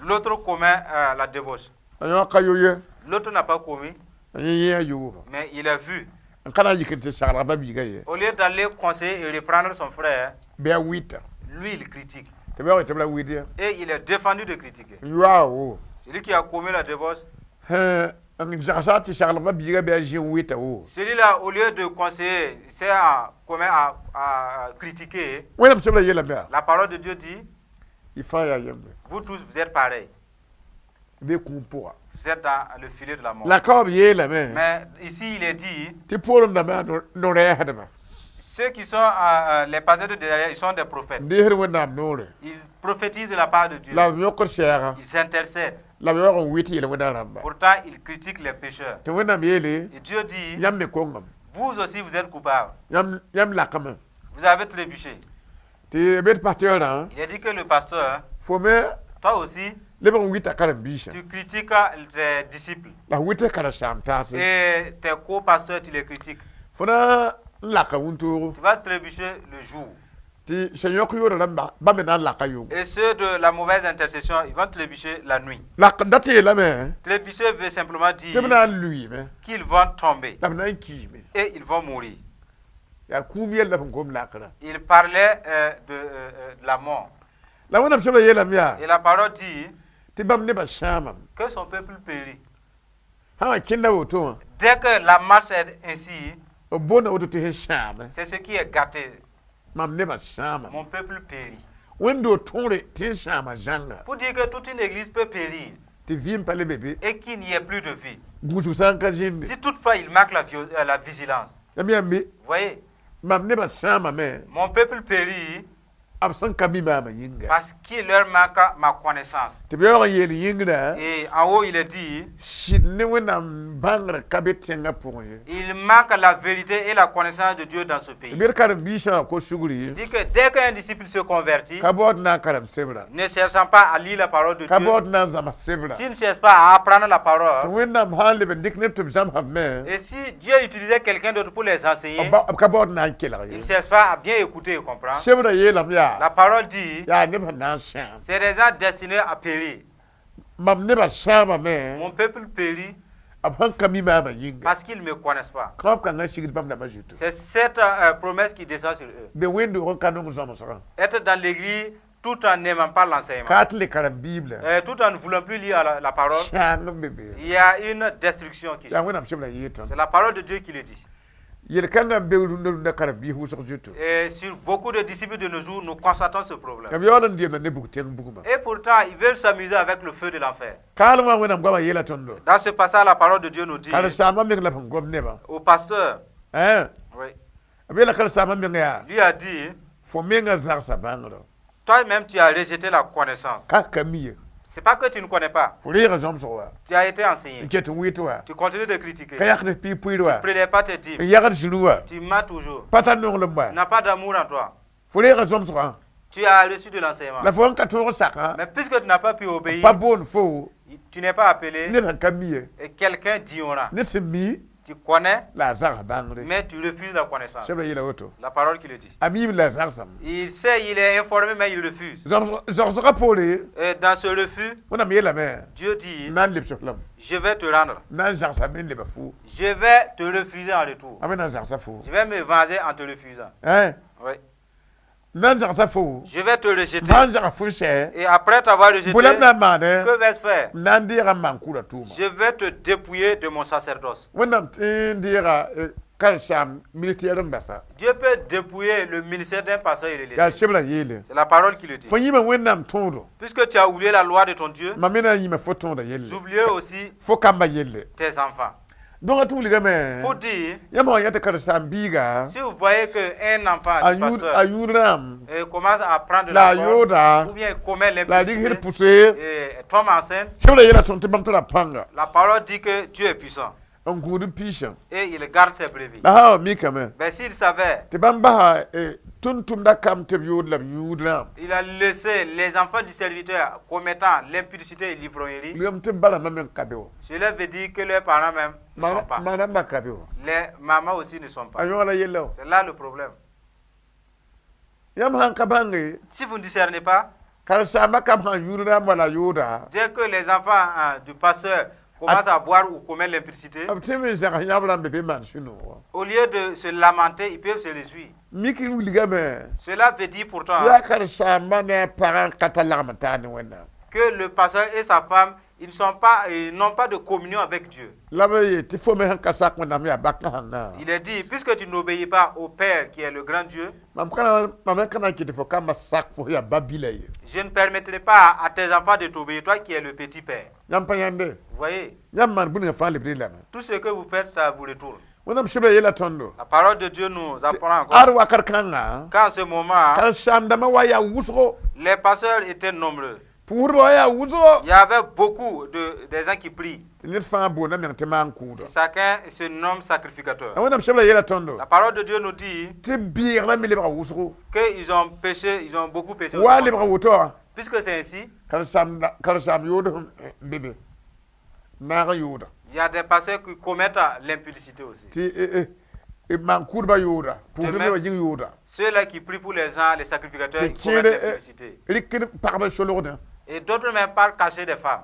L'autre commet euh, la débauche. La yõ ka yo ye. L'autre n'a pas commis, La yẽ yẽa yooma. Mais il a vu. N ka na n yik n tɩ saglg ba-biigã ye. Au lieu d'aller conseiller et reprendre son frère, Bɩ a wɩta. Lui, il critique. Tɩ b yaoog tɩ b ra wɩd ya. Et il est défendu de critiquer. N yoaa wo. Celui qui a commis la débauche, N zagsa tɩ saglg ba-biigã bɩ a zĩ n wɩta wo. Celui-là, au lieu de conseiller, c'est à, commet à, à critiquer. Wẽnnaam sebra yeelame yaa. La parole de Dieu dit, Y fãa yaa yembre. Vous tous, vous êtes pareils. Be kũum pʋga. Vous êtes dans le filet de la mort. La ka b yeelame. Mais ici, il est dit, Tɩ poorem dãmbã yaa no-rɛɛsdbã. Ceux qui sont euh, euh, les pasteurs de derrière, ils sont des prophètes. N deesd Wẽnnaam noore. Ils prophétisent de la part de Dieu. La b yõkd sɛɛga. Ils intercèdent. La b yaoog n wɩt yel-wẽnã rãmba. Pourtant, ils critiquent les pécheurs. Tɩ Wẽnnaam yeele. Et Dieu dit, Yãmb me kongame. Vous aussi, vous êtes coupables. Yãmb yãmb lakame. Vous avez trébuché. Tɩ b pasteur Il a dit que le pasteur, hein, fo me toi aussi, leb n wɩta karen-biisã. Tu critiques tes disciples. La f wɩta karen-saam taase. Et tes co-pasteurs, tu les critiques. Fo na n laka wũntoogo. Tu vas trébucher le jour. Tɩ sẽn yõk yoorã rãmba ba me na n laka yʋngo. Et ceux de la mauvaise intercession, ils vont trébucher la nuit. Lak dat yeelame. Trébucher veut simplement dire Tɩ b na n luiime. Qu'ils vont tomber La b na n kiime. Et ils vont mourir. Yaa kũum yella sẽn gom lakrã. Il parlait euh, de, euh, euh, de la mort. La Wẽnnaam sebra yeelame yaa. Et la parole dit Tɩ bãmb nebã sãamame. Que son peuple périt. Sã wã kẽnda woto wã. Dès que la marche est ainsi, B boonda woto tɩ sẽn sãame. C'est ce qui est gâté. Mam nebã sãamame. Mon peuple périt. Wẽnd-doog tõore tɩ n sãama zãnga. Pour dire que toute une église peut périr Tɩ vɩɩm pa le be be. Et qu'il n'y ait plus de vie. Gũusg sã n ka zĩnde. Si toutefois il manque la, vio- euh, la vigilance, Yãmb yãmbe. Vous voyez, Mam nebã sãamame. Mon peuple périt B sẽn ka mi maamã yĩnga. Parce qu'il leur manque ma connaissance. Tɩ b yaoog n yeel yĩngrã. Et en haut, il est dit, Sɩd ne Wẽnnaam bãngrã ka be tẽngã pʋgẽ ye. Il manque la vérité et la connaissance de Dieu dans ce pays. Tɩ b karen-biisã wã kos sugri. Il dit que dès qu'un disciple se convertit, Ka baood na n karem sebra. Ne cherchant pas à lire la parole de Ka Dieu, baood na n zãms sebra. S'il ne cherche pas à apprendre la Tɩ parole, Wẽnnaam sã n leb n dɩk neb tɩ b zãmsame me. Et si Dieu utilisait quelqu'un d'autre pour les enseigner, B ka baood na n kelg il ye. ne cherche pas à bien écouter et comprendre. Sebra yeelame yaa. La parole dit, Yaa neb sẽn na n sãam. C'est des gens destinés à périr. Mam nebã sãamame. Mon peuple périt B sẽn ka mi maamã yĩnga. Parce qu'ils ne me connaissent pas. Kõab kãngã sigd bãmb dãmbã zutu. C'est cette euh, promesse qui descend sur eux. Be wẽnd-doog n ka nong zãmsgã. Être dans l'église tout en n'aimant pas l'enseignement, Ka tɩ le karem Bible. Euh, tout en ne voulant plus lire la, la parole, Sãang n be be. Il y a une destruction qui Yaa suit. Wẽnnaam sebra yee tõnd. C'est la parole de Dieu qui le dit. Yel-kãngã n be rũndã rũndã karen-biis wʋsg zutu. Et sur beaucoup de disciples de nos jours, nous constatons ce problème. B yaool n deemda ne bug tẽng bugmã. Et pourtant, ils veulent s'amuser avec le feu de l'enfer. Kaalem wã Wẽnnaam goamã yeela tõndo. Dans ce passage, la parole de Dieu nous dit Karen-saambã meng la sẽn gom nebã. Au pasteur, Ã. Oui, B yeela karen-saambã meng yaa. Lui a dit, Fo mengã zagsa bãngrã. Toi-même tu as rejeté la connaissance. Ka ka mi ye. C'est pas que tu ne connais pas. Fo reega zãmsg wa. Tu as été enseigné. N ket n wɩt wa. Tu continues de critiquer. Ka yãkd piig pʋɩɩr wa. Tu ne prélèves pas tes dîmes. N yagd zĩru wa. Tu mens toujours. Pa tar nonglem wa. Tu n'as pas d'amour en toi. Fo reega zãmsgã. Tu as reçu de l'enseignement. La fo n ka tõog sakã. Mais puisque tu n'as pas pu obéir, Pa boond fo. tu n'es pas appelé. Ned sẽn ka mi ye. Et quelqu'un d'ignorant. Ned sẽn mi. Tu connais, La a zags bãngre. mais tu refuses la connaissance. Sebra yeela woto. La parole qui le dit. A miime la a zagsame. Il sait, il est informé, mais il refuse. Zogsgã poore. Et dans ce refus, Wẽnnaam yeelame. Dieu dit, N na n lebs f lame. je vais te rendre. N na n zagsame n leba fo. Je vais te refuser en retour. A me na n zagsa fo. Je vais me venger en te refusant. Hein? Oui. N na n zagsa fo. Je vais te rejeter. Sã n zag fo n sɛ. Et après t'avoir rejeté, Bõe la m na n maane. que vais-je faire? N na n deega n maan-kʋʋda tʋʋma. Je vais te dépouiller de mon sacerdoce. Wẽnnaam tɩ n deega karen-saam ministère n basa. Dieu peut dépouiller le ministère d'un pasteur et le Yaa laisser. sebra yeele. C'est la parole qui le dit. Fo yĩma Wẽnnaam tõodo. Puisque tu as oublié la loi de ton Dieu, Mam me na n yĩma fo tõoda yelle. j'oublierai aussi Fo kamba yelle. tes enfants. Donc a tɩ wilgame. Pour dire, Yãmb wã yã tɩ karen-saam biiga. si vous voyez qu'un enfant A du yũud pasteur a yũud rãmb. euh, commence à prendre La la yooda. ou bien commet La a rɩk l'impudicité pʋse. et tombe enceinte, Sebra yeela tõnd tɩ bãmb tara pãnga. la parole dit que Dieu est puissant N gũud piisã. et il garde ses brebis. La sã n wa mikame. Mais s'il savait, Tɩ bãmb basa tʋm-tʋmda kam tɩ b yood la b yũud rãmb. il a laissé les enfants du serviteur commettant l'impudicité et l'ivrognerie, Wilgame tɩ b barãmbã me n ka be wa. cela veut dire que leurs parents même ne sont pas. Ma rãmbã ka be wa. Les mamans aussi ne sont A pas. yõg la yella wa. C'est là le problème. Yãmb sãn ka bãnge. Si vous ne discernez pas, Karen-saambã kam sãn yũud rãmb wala yooda. dès que les enfants hein, du pasteur commencent à boire ou commettre l'impudicité, B tɩ me n zãgs yãb rãmb be maan sũ-noog wa. au lieu de se lamenter, ils peuvent se réjouir. Mik wilgame. Cela veut dire pourtant Tɩ yaa karen-saambã ne a pagã n ka tar lagm n taar ne Wẽnnaam. que le pasteur et sa femme, ils ne sont pas, ils n'ont pas de communion avec Dieu. La b yeel tɩ fo me sẽn ka sak Wẽnnaam yaa bak sãnga. Il est dit, puisque tu n'obéis pas au Père qui est le grand Dieu, Mam ka mam me ka na n kɩt tɩ fo kambã sak fo yaa ba-bila ye. je ne permettrai pas à tes enfants de t'obéir, toi qui es le petit Père. Yãmb pa yãnde. Vous voyez, Yãmb maan bũmb fãa lebd lame. tout ce que vous faites, ça vous retourne. Wẽnnaam sebra yeela tõndo. La parole de Dieu nous apprend encore Ad wakat kãnga. qu'en ce moment, Karen-saam-dãmbã wa yaa wʋsgo. les pasteurs étaient nombreux. Pʋʋsdbã wa yaa wʋsgo. Il y avait beaucoup de, des gens qui prient. Tɩ ned fãa boonda meng tɩ maan-kʋʋda. Chacun se nomme sacrificateur. La Wẽnnaam sebra yeela tõndo. La parole de Dieu nous dit Tɩ bɩɩgrã me lebga wʋsgo. qu'ils ont péché, ils ont beaucoup péché. Wa lebga woto wã. Puisque c'est ainsi, Karen-saam karen-saam yood n be be. Naag n yooda. il y a des pasteurs qui commettent l'impudicité aussi. Tɩ maan-kʋʋdbã yooda. Pʋʋsdb nebã yĩng yooda. Ceux-là qui prient pour les gens, les sacrificateurs, Tɩ ils commettent kẽed l'impudicité. rɩkd pagba solgdã. Et d'autres même parlent cacher des femmes.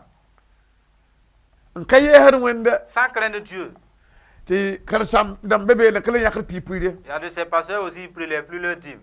N ka yɛɛsd Wẽnda. Sans craindre Dieu. Tɩ karen-saam dãmb be beene ka le yãkd piig-pʋɩɩre. Il y a de ces pasteurs aussi, ils ne prélèvent plus leur dîme.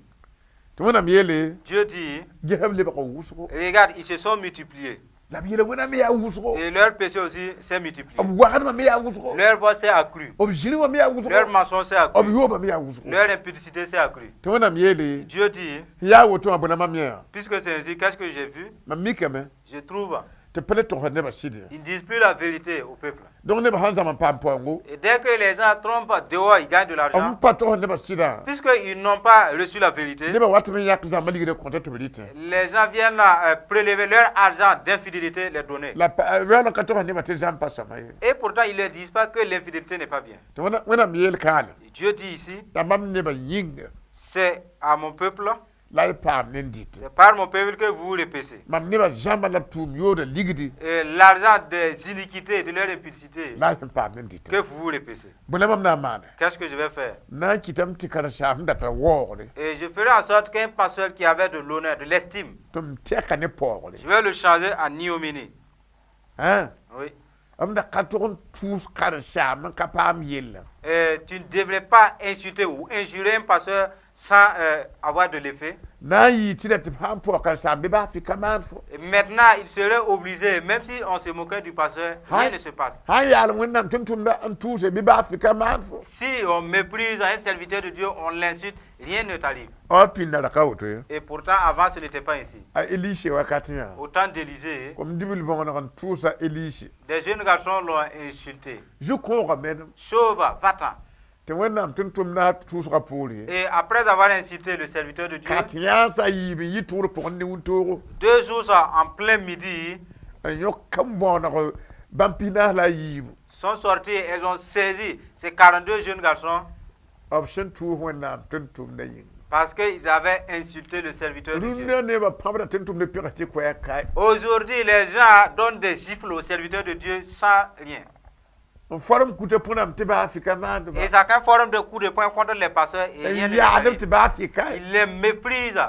Tɩ Wẽnnaam yeele. Dieu dit, Gesb lebga wʋsgo. regarde, ils se sont multipliés. La b yeela Wẽnnaam yaa wʋsgo. Et leur péché aussi s'est multiplié. B wagdmã me yaa wʋsgo. Leur voix s'est accrue. B zĩrĩ wã me yaa wʋsgo. Leur mensonge s'est B accru. yoobã me yaa wʋsgo. Leur impudicité s'est accrue. Tɩ Wẽnnaam yeele. Dieu dit, Yaa woto wã bõe mam yã. puisque c'est ainsi, qu'est-ce que j'ai vu? Mam mikame. Je trouve, Tɩ pa le togsd nebã sɩd ye. ils ne disent plus la vérité au peuple. Donc nebã sãn zãm n paam paoongo. Et dès que les gens trompent dehors, ils gagnent de B l'argent. pa togsd nebã sɩdã. Puisqu'ils n'ont pas reçu la vérité, Nebã wat m yãk zãmba ligdã kõta tɩ b rɩtẽ. les gens viennent euh, prélever leur argent d'infidélité, les donner. La yaool n ka togsd nebã tɩ zãmb pa sõma ye. Et pourtant, ils ne leur disent pas que l'infidélité n'est pas bien. Tɩ Wẽnnaam yeel kaale. Dieu dit ici, Yaa mam nebã yĩnga c'est à mon peuple, la y paam ne n dɩtẽ. c'est par mon peuple que vous repêchez. Mam nebã zãmba la b tʋʋm yoodã ligdi Et l'argent des iniquités, de leur impudicité, la y sẽn paam ne n dɩtẽ. que vous repêchez. Bõe la mam na n maane. Qu'est-ce que je vais faire? Na n kɩtame tɩ karen-saam da tar waoogre. Et je ferai en sorte qu'un pasteur qui avait de l'honneur, de l'estime, Tɩ m tɛka ne paoogre. je vais le changer en ignominie. Hein? Oui. M da ka tog n tʋʋs karen-saam n ka paam yella. Et tu ne devrais pas insulter ou injurer un pasteur sans euh, avoir de l'effet. Na n yɩ tɩ la tɩ b sãn paoog karen-saam bɩ baa fɩ ka maan fo. Et maintenant, il serait obligé, même si on se moquait du pasteur, rien Aïe. ne se passe. Sãn yaal Wẽnnaam tʋm-tʋmda n tʋʋse bɩ baa fɩ ka maan fo. Si on méprise un serviteur de Dieu, on l'insulte, rien ne t'arrive. A pĩnda ra ka woto ye. Et pourtant, avant, ce n'était pas ainsi. A Elise wakat yã. Au temps d'Élisée, Kom dibil bõneg n tʋʋsa Elise. des jeunes garçons l'ont insulté. Zu-kõoga medem. Chauve, va-t'en. Tɩ Wẽnnaam tʋm-tʋmda tʋʋsgã poor ye. Et après avoir insulté le serviteur de Dieu, Ka tɩ yãas a yiib n yɩ tʋgr pʋgẽ ne wĩntoogo. deux jours ça, en plein midi, N yõk n bõoneg bãmb pis-naas la a yiibu. Sont sortis et elles ont saisi ces quarante-deux jeunes garçons B sẽn tʋʋs Wẽnnaam tʋm-tʋmdã yĩnga. Parce qu'ils avaient insulté le serviteur de Dieu. Rũndã nebã pãbda tʋm-tʋmdb pẽgs tɩ koɛɛg kae. Aujourd'hui, les gens donnent des gifles aux serviteurs de Dieu sans rien. N form kuta põnam tɩ baa fika maandba. Et chacun forme des coups de poing contre les pasteurs et rien N ne leur yaadb arrive. Tɩ baa fika. Ils les méprisent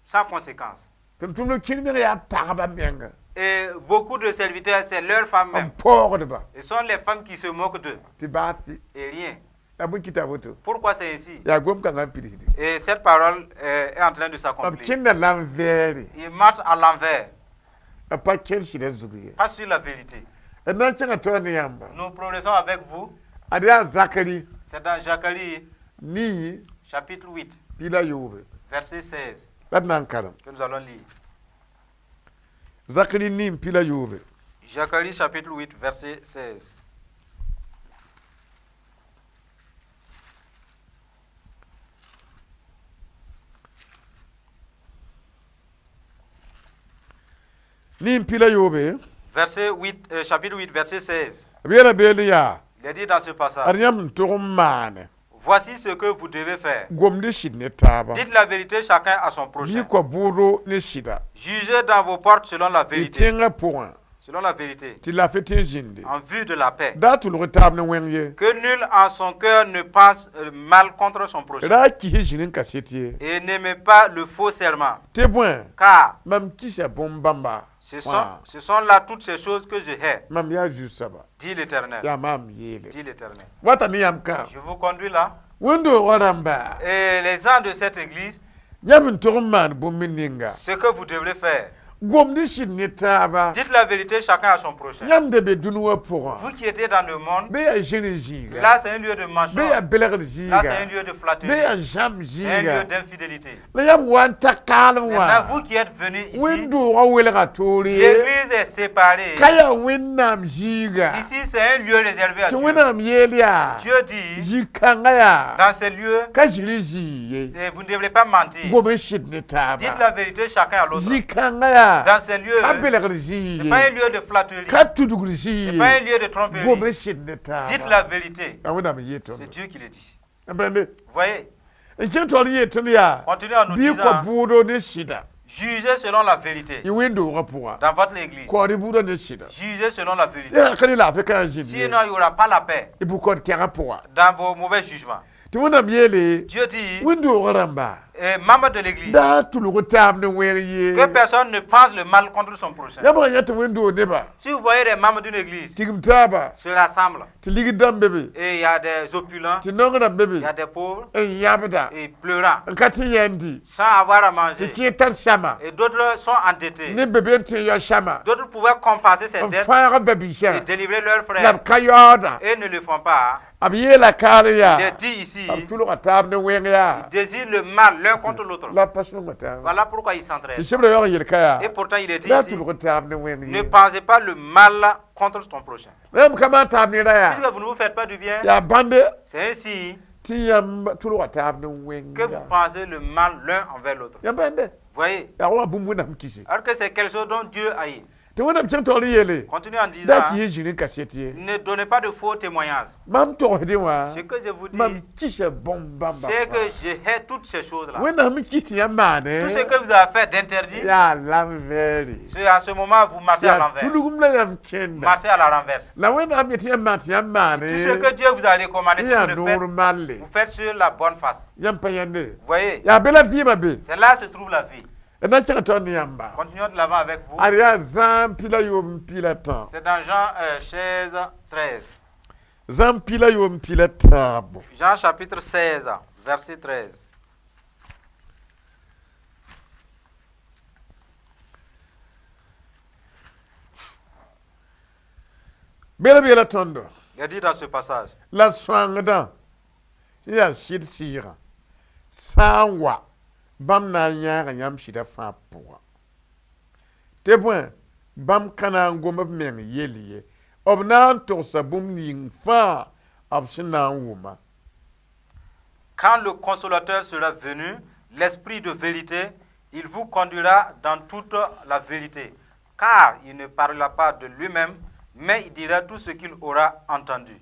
sans conséquence. Tʋm-tʋmdb kẽng meng yaa pagba menga. Et beaucoup de serviteurs, c'est leurs femmes N même. paoogdba. Ce sont les femmes qui se moquent d'eux. Tɩ baa fi. Et rien. La bõe kɩta woto? Pourquoi c'est ainsi? Yaa gom-kãngã n pidsde. Et cette parole euh, est en train de B s'accomplir. Kẽnda l'envers. Ils marchent à l'envers, B pa kẽnd sɩdã zug ye. Pas sur la vérité. D na n kẽngã taoor ne yãmba. Nous progressons avec vous. Ad yaa Zakari C'est dans Zacharie, nii chapitre huit, piig la yoobe. Verset seize, La d na n karem. Que nous allons lire. Zakari nii piig la yoobe. Zacharie, chapitre huit, verset seize. Nii piig la yoobe. Verset huit, euh, chapitre huit, verset seize. B yeela beele yaa. Il est dit dans ce passage: Ad yãmb n tog n maane. Voici ce que vous devez faire. Gomd sɩd ne taaba. Dites la vérité chacun à son prochain. Bɩ kɔ bʋʋdo ne sɩda. Jugez dans vos portes selon la Y vérité. tẽngã pʋgã. Selon la vérité. Tɩ lafe tẽ n zĩnde. En vue de la paix. Da tʋlg taab ne wẽng ye. Que nul en son cœur ne pense euh, mal contre son prochain. Ra kis zĩr n kaset ye. Et n'aimez pas le faux serment. Tɩ bõe. Car Mam kisa bõn-bãmba. ce sont, ce sont là toutes ces choses que je hais, Mam yaa zu-soaba. Dit l'Éternel. Yaa maam yeele. Dit l'Éternel. Wata ne yãmb ka. Je vous conduis là. Wẽnd-doogã rãmba. Et les gens de cette église, Yãmb n tog n maan bũmb ninga. Ce que vous devrez faire, Gomd sɩd ne taaba. Dites la vérité chacun à son prochain. Yãmb da be dũni wã pʋgã. Vous qui étiez dans le monde, Be yaa zĩr zĩiga. Là c'est un lieu de Be mensonge. yaa belgd Là c'est un zĩiga. lieu de Be flatterie. yaa zãmb C'est un lieu zĩiga. d'infidélité. La yãmb wa n ta kaalem Maintenant, wã. vous qui êtes venus ici, Wẽn-doogã welga toore. L'église est séparée. Ka yaa Wẽnnaam zĩiga. Ici, c'est un lieu réservé à Tɩ Dieu. Wẽnnaam yeel yaa. Dieu dit, Zĩ-kãngã yaa. Dans ces lieux, Ka zĩr zĩig ye. c'est- vous ne devrez pas mentir. Gom n sɩd ne Dites la taaba. Vérité chacun à l'autre. Zĩ-kãngã yaa. Dans ces lieux, Ka belgd ce zĩig n'est pas un ye. lieu de flatterie. Ka tudgd Ce zĩig n'est pas un ye. Lieu de Gom tromperie. n sɩd ne Dites taaba. la vérité. Yaa Wẽnnaam yeel C'est tõndo. Dieu qui le dit. N bãmbe. Vous voyez, N kẽng taoor n yeel tõnd yaa. Continuez en nous Bɩ disant, kɔ bʋʋdo ne sɩda. Jugez selon la vérité Y wẽn-doogã pʋga. Dans votre église. Kaood bʋʋdã ne sɩda. Jugez selon la vérité. Tɩ ka ne laafɩ ka n zĩnd ye. Sinon, il n'y aura pas la paix Y bʋ-kaood kɛgã pʋga. Dans vos mauvais jugements. Tɩ Wẽnnaam yeele. Dieu dit, Wẽn-doogã rãmba. Eh, membre de l'église, Da tʋlg taab ne wẽeg ye. Que personne ne pense le mal contre son prochain. Yãmb sã yã tɩ wẽn-doog neba. Si vous voyez des membres d'une église Tigim taaba. Se rassemblent, Tɩ ligd dãmb be be. Et il y a des opulents, Tɩ naong rãmb be il be. Y a des pauvres, N yãbda. Et pleurant, N ka tɩ yẽndi. Sans avoir à Tɩ manger, kẽer tar sãma. Et d'autres sont endettés. Ne be be n tẽ yao sãma. D'autres pouvaient compenser ces N dettes fãag ba-biisã. Et délivrer leurs La b frères, ka yaooda. Et ne le font pas. B yeela kaal Il yaa. est dit ici, B tʋlga taab ne wẽng yaa. Ils désirent le mal l'un contre l'autre. La pa sõnga taaba. Voilà pourquoi ils Tɩ s'entraident. sebra yaoog yel ka yaa. Et pourtant, il est dit La ici, tʋlg taab ne wẽng ne ye. Pensez pas le mal contre ton prochain. La yãmb ka maan taab ne ra yaa. Puisque vous ne vous faites pas du bien, Yaa bãnde c'est ainsi tɩ yãmb tʋlga taab ne que vous wẽnga. Pensez le mal l'un envers l'autre. Yãmb bãnde. Voyez? Yaa wa bũmb Wẽnnaam kise. Alors que c'est quelque chose dont Dieu haït. Tɩ Wẽnnaam kẽng taoor n yeele. Continue en disant, Da kɩ yẽ zĩr n kaset ye. Ne donnez pas de faux témoignages. Mam togsdẽ wã. Ce que je vous Mam dis, kisa bõn-bãmba. C'est que je hais toutes ces choses-là. Wẽnnaam kis tɩ yãmb maane. Tout ce que vous avez fait d'interdit, Yaa l'envers. C'est à ce moment vous marchez à Yaa l'envers. tulgum la yãmb kẽnda. Marchez à la renverse. La Wẽnnaam yet tɩ yãmb maan tɩ yãmb maane. Tout ce que Dieu vous a recommandé, si Yaa vous le faites, normal. Vous faites sur la bonne face. Yãmb pa yãnde. Vous voyez? Yaa be la vɩɩmã be. C'est là se trouve la vie. D na n kẽng taoor ne yãmba. Continuons de l'avant avec vous. Ad yaa zãam pila yoob n pila tã. C'est dans Jean euh, seize, treize. Zãam pila yoob n pila tãabo. Jean chapitre seize, verset treize. Bela beela tõndo. Il est dit dans ce passage, La sõangdã sẽn yaa sɩd sɩɩgã sã n wa bãmb na n yãaga yãmb sɩdã fãa pʋga tɩ bõe bãmb ka na n gom b meng yell ye b na n togsa bũmb ning fãa b sẽn na n wʋma. Quand le consolateur sera venu, l'esprit de vérité, il vous conduira dans toute la vérité. Car il ne parlera pas de lui-même, mais il dira tout ce qu'il aura entendu.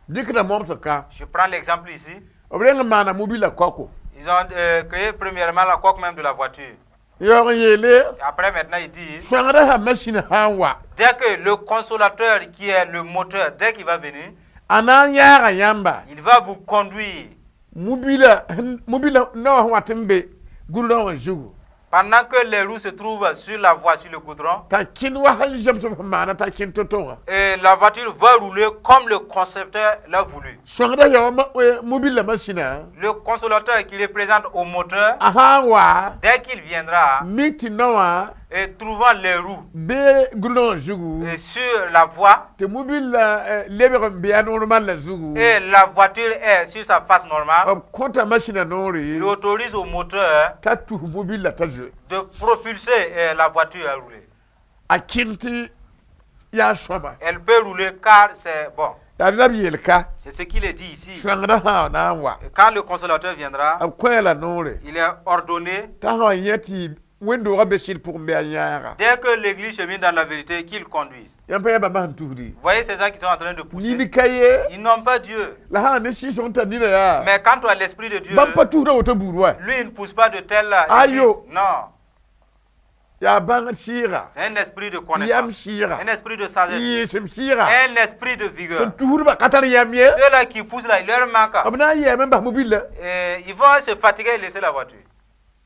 Dɩkda momsg ka. Je prends l'exemple ici. B reng n maana mobila kaoko. Ils ont euh, créé premièrement la coque même de la voiture. Yaoog n yeele Et après, maintenant, ils disent, sõangdã sã masĩn sã n wa, dès que le consolateur qui est le moteur, dès qu'il va venir, a na n yaaga yãmba il va vous conduire. Mobila mobila naoã sẽn wat n be gũudrã wã zugu Pendant que les roues se trouvent sur la voie, sur le goudron, t'a kẽnd wa sẽn zems b sẽn maana t'a kẽnd to-to wã. Et la voiture va rouler comme le concepteur l'a voulu. Sõangdã yaa wa mobila masĩnã. Le consolateur qui représente au moteur, A sã n wa dès qu'il viendra mik tɩ naoã et trouvant les roues be gũudrã wã zugu et sur la voie, tɩ mobila lebg n be a normal la zugu, et la voiture est sur sa face normale, b kõta masĩnã noore il autorise au moteur t'a tus mobila t'a zoe. De propulser euh, la voiture à rouler. A kẽnd tɩ yaa sõama. Elle peut rouler car c'est bon. Yaa la b yeel ka. C'est ce qu'il est dit ici. Sõangdã sã na n wa, Et quand le consolateur viendra, b kõ la noore il est ordonné, t'a sã n yẽ tɩ wẽnd-doogã be sɩd pʋgẽ bɩ a yãaga. Dès que l'église chemine dans la vérité, qu'il conduise. Yãmb pa yaa bãmba sẽn tusdi. Vous voyez ces gens qui sont en train de pousser, Nini ka ye. Ils n'ont pas Dieu. La sã n ne sɩɩsg n tar nina yaa, Mais quand tu as l'Esprit de Dieu, bãmb pa tusda woto buud wa. Lui, il ne pousse pas de telle Aïe. Église. Non, Yaa bãngd sɩɩga, c'est un esprit de yam connaissance, sɩɩga, un esprit de sagesse, yɩɩsem sɩɩga. Un esprit de vigueur. N tusdbã ka tar yam ye. Ceux-là qui poussent là, il leur manque. B na n yɛɛme n bas mobila. Et ils vont se fatiguer et laisser la voiture.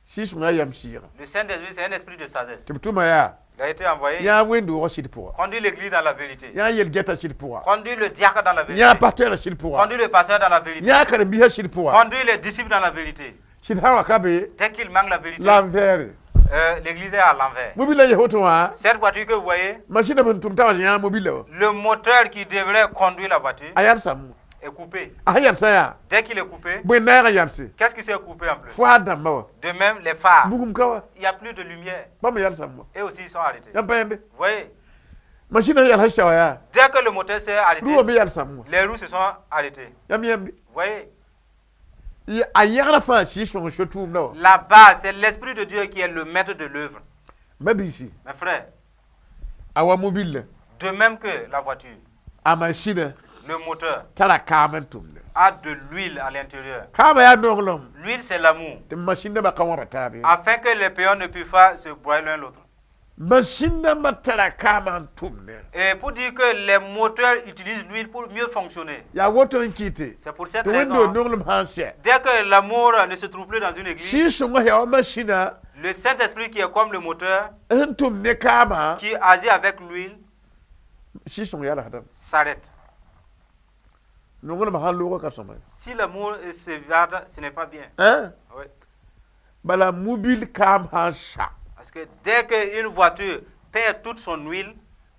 Sɩɩsgã yam sɩɩga. Le Saint-Esprit, c'est un esprit de sagesse. Tɩ b tʋma yaa Il a été envoyé. Yãa wẽnd-doogã sɩd pʋga. Conduire l'église dans la vérité. Yãa yel-gɛta sɩd pʋga. Conduire le diacre dans la vérité. Yãa pasteur sɩd pʋga. Conduire le pasteur dans la vérité. Yãa karen-biisã sɩd pʋga. Conduire les disciples dans la vérité. Sɩd sã n wa ka be Dès qu'il manque la vérité, l'envers. euh, l'église est à l'envers. Mobila yɛ woto wã, Cette voiture que vous voyez, masĩnã sẽn tʋm t'a wa yãa mobila wã, le moteur qui devrait conduire la voiture a yalsame. Est coupé. A sẽn yalsã yaa, Dès qu'il est coupé, bõe naagã yalse? Qu'est-ce qui s'est coupé en plus? Fo-a dãmbã wã. De même, les phares. Bugum ka wa. Il n'y a plus de lumière. Bãmb yalsame wa. Et aussi, ils sont arrêtés. Yãmb pa yẽnde. Vous voyez? Masĩnã yalsã sã wa yaa, Dès que le moteur s'est arrêté, rʋwã me yalsame wa. Les roues se sont arrêtées. Yãmb yẽmbe. Vous voyez? A yẽgrã fãa sɩɩg-sõng so-tʋʋmdã wã. Là-bas, c'est l'Esprit de Dieu qui est le maître de l'œuvre. Ma-biisi, Mes frères, a wa mobile, de même que la voiture, a masĩnã le moteur tara kaam n tʋmda. A de l'huile à l'intérieur. Kaamã yaa nonglem L'huile, c'est l'amour. Tɩ masĩn dãmbã ka wãba taab ye. Afin que les péons ne puissent pas se broyer l'un l'autre. Masĩn dãmbã tara kaamã n tʋmda. Et pour dire que les moteurs utilisent l'huile pour mieux fonctionner. Yaa woto n kɩte C'est pour cette tɩ wẽnd raison. nonglem sã n sɛ, Dès que l'amour ne se trouve plus dans une église, sɩɩg-sõngã yaa wa masĩnã le Saint-Esprit qui est comme le moteur, sẽn tʋm ne kaamã, qui agit avec l'huile, sɩɩg-sõng yalsdame. S'arrête. Nonglem sãn loogã ka sõma. Si l'amour s'évade, ce n'est pas bien. Hein? Oui. Bala mobil kaam sã n sa, Parce que dès qu'une voiture perd toute son huile,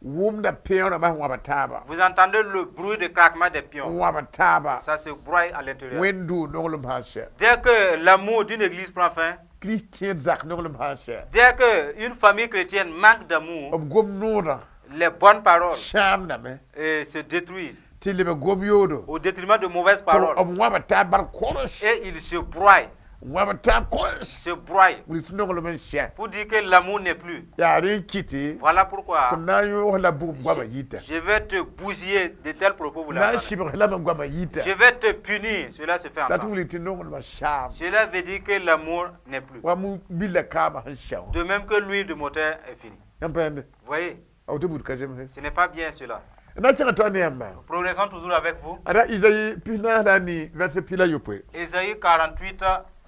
wʋmda peoorã bas wãba taaba, vous entendez le bruit de craquement des pions. Wãba taaba. Ça se broye à l'intérieur. Wẽnd-doog nonglem sã n sɛ, Dès que l'amour d'une église prend fin, kirist zak nonglem sã n sɛ, dès qu'une famille chrétienne manque d'amour, b gom noodã les bonnes paroles sãamdame eh, se détruisent tɩ leb gom yoodo au détriment de mauvaises tɩ paroles. B wãba taab bar kores. Et ils se broient, Wãba taab kores se broient wilg tɩ nonglem n sɛ. Pour dire que l'amour n'est plus. Yaa rẽ n kɩte Voilà pourquoi tɩ m na n yõos la bugum goamã yita. Je vais te bousiller de tels propos. Vous Na n l'entendez. sɩbg lame goamã yita. Je vais te punir. Cela se fait La tɩ entendre. wilg tɩ nonglmã saam. Cela veut dire que l'amour n'est plus. Wa mobila kaamã sẽn sɛ wã. De même que l'huile de moteur est finie. Yãmb pa yẽnde. Vous voyez, A woto buud ka zemse. Ce n'est pas bien cela. Na kẽngã tɩ ne yãmba. Progressons toujours avec vous. Ada Izayi pis-naas la a nii verset pi la yopoe. Ésaïe quarante-huit,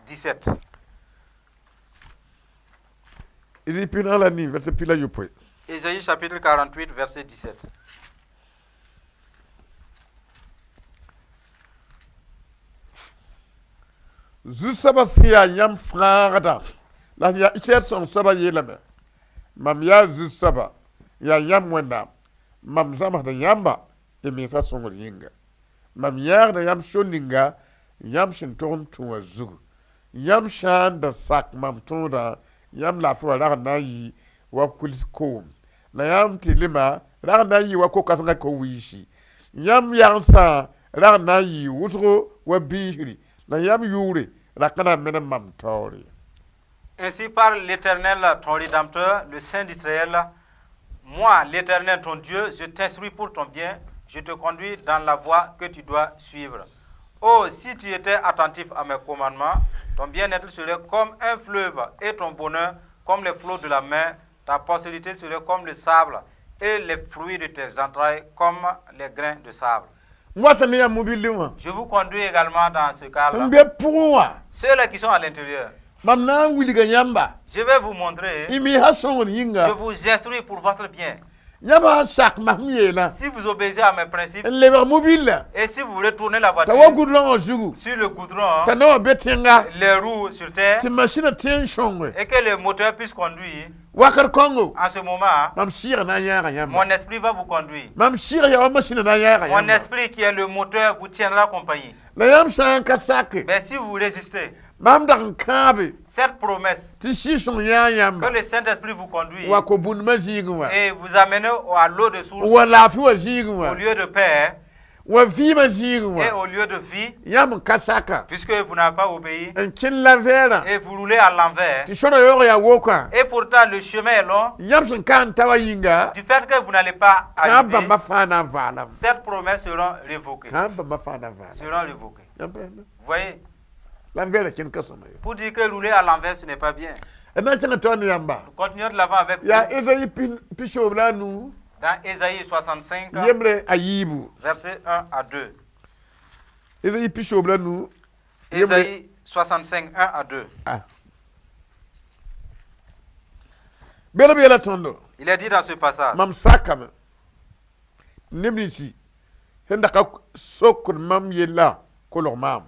dix-sept. Izayi pis-naas la a nii verset pi la yopoe. Ésaïe chapitre quarante-huit, verset dix-sept. Zu-soabã sẽn yaa yãmb fãagdã la sẽn yaa Israɛl sõng soabã yeelame mam yaa zu-soaba yaa yãmb Wẽnnaam mam zãmsda yãmba y mensã sõngr yĩnga mam yãagda yãmb so ninga yãmb sẽn tog n tũ wã zugu yãmb sã n da sak mam tõodã yãmb laafɩ wã rag n na n yɩ wa kuls koom la yãmb tɩ lema rag n na n yɩ wa ko-kãsengã ko-wiisi yãmb yagsã rag n na n yɩ wʋsgo wa biisri la yãmb yʋʋre ra ka na n menem mam taoore. Ainsi parle l'Éternel, ton Rédempteur, le Saint d'Israël. Moi, l'Éternel, ton Dieu, je t'instruis pour ton bien, je te conduis dans la voie que tu dois suivre. Oh, si tu étais attentif à mes commandements, ton bien-être serait comme un fleuve et ton bonheur comme les flots de la mer. Ta postérité serait comme le sable et les fruits de tes entrailles comme les grains de sable. N wata ne yãmb mobilẽ wã. Je vous conduis également dans ce cas-là. N be pʋgẽ wã. Ceux-là qui sont à l'intérieur, Mam na n wilga yãmba. Je vais vous montrer. Y misã sõngr yĩnga. Je vous instruis pour votre bien. Yãmb sã n sak masem yeelã. Si vous obéissez à mes principes N lebg mobilã. Et si vous retournez la T'a voiture wa goudrongã zugu. Sur le goudron, T'a na wã be tẽnga. Les roues sur terre Tɩ masĩnã tẽ n sõnge. Et que le moteur puisse conduire, Wakat kõngo. En ce moment, Mam sɩɩg na n yãaga yãmba. Mon esprit va vous conduire. Mam sɩɩg yaa wa masĩnã na n yãaga Mon yãmba. Esprit qui est le moteur vous tiendra compagnie. La yãmb sã n ka sake. Mais si vous résistez, Mam dag n kãabe. Cette promesse Tɩ sɩɩg-sõng yãag yãmba. Que le Saint-Esprit vous conduit Wa ko-bũndmã zĩigẽ wã. Et vous amène à l'eau de source, Wa laafɩ wã zĩigẽ au wã. Lieu de paix Wa vɩɩmã zĩigẽ et wã. Au lieu de vie, Yãmb n ka saka. Puisque vous n'avez pas obéi N kẽn l'envers. Et vous roulez à l'envers. Tɩ sõra yaoog yaa wokã. Et pourtant le chemin est long. Yãmb sẽn ka n ta wa yĩnga. Du fait que vous n'allez pas Kãab arriver, bãmba fãa na n vaalame. Cette promesse sera révoquée. Kãab bãmba fãa na n vaalame. Sera révoquée. Yãmb pa yãmba. Vous voyez? L'envers kẽnd ka sõma ye. Pour dire que rouler à l'envers, ce n'est pas bien. D na n kẽngã taoor ne yãmba. Nous continuons de l'avant avec vous. Yaa Ezayi pisoobl la a nu. Dans Ésaïe soixante-cinq, Yembre a yiibu. Versets un à deux. Ezayi pisoobl la nu. Yembre Ésaïe soixante-cinq, un à deux. Ah. Bela b yeela tõndo. Il est dit dans ce passage, Mam sakame neb ninsi sẽn da ka sokd mam yella kolg maam.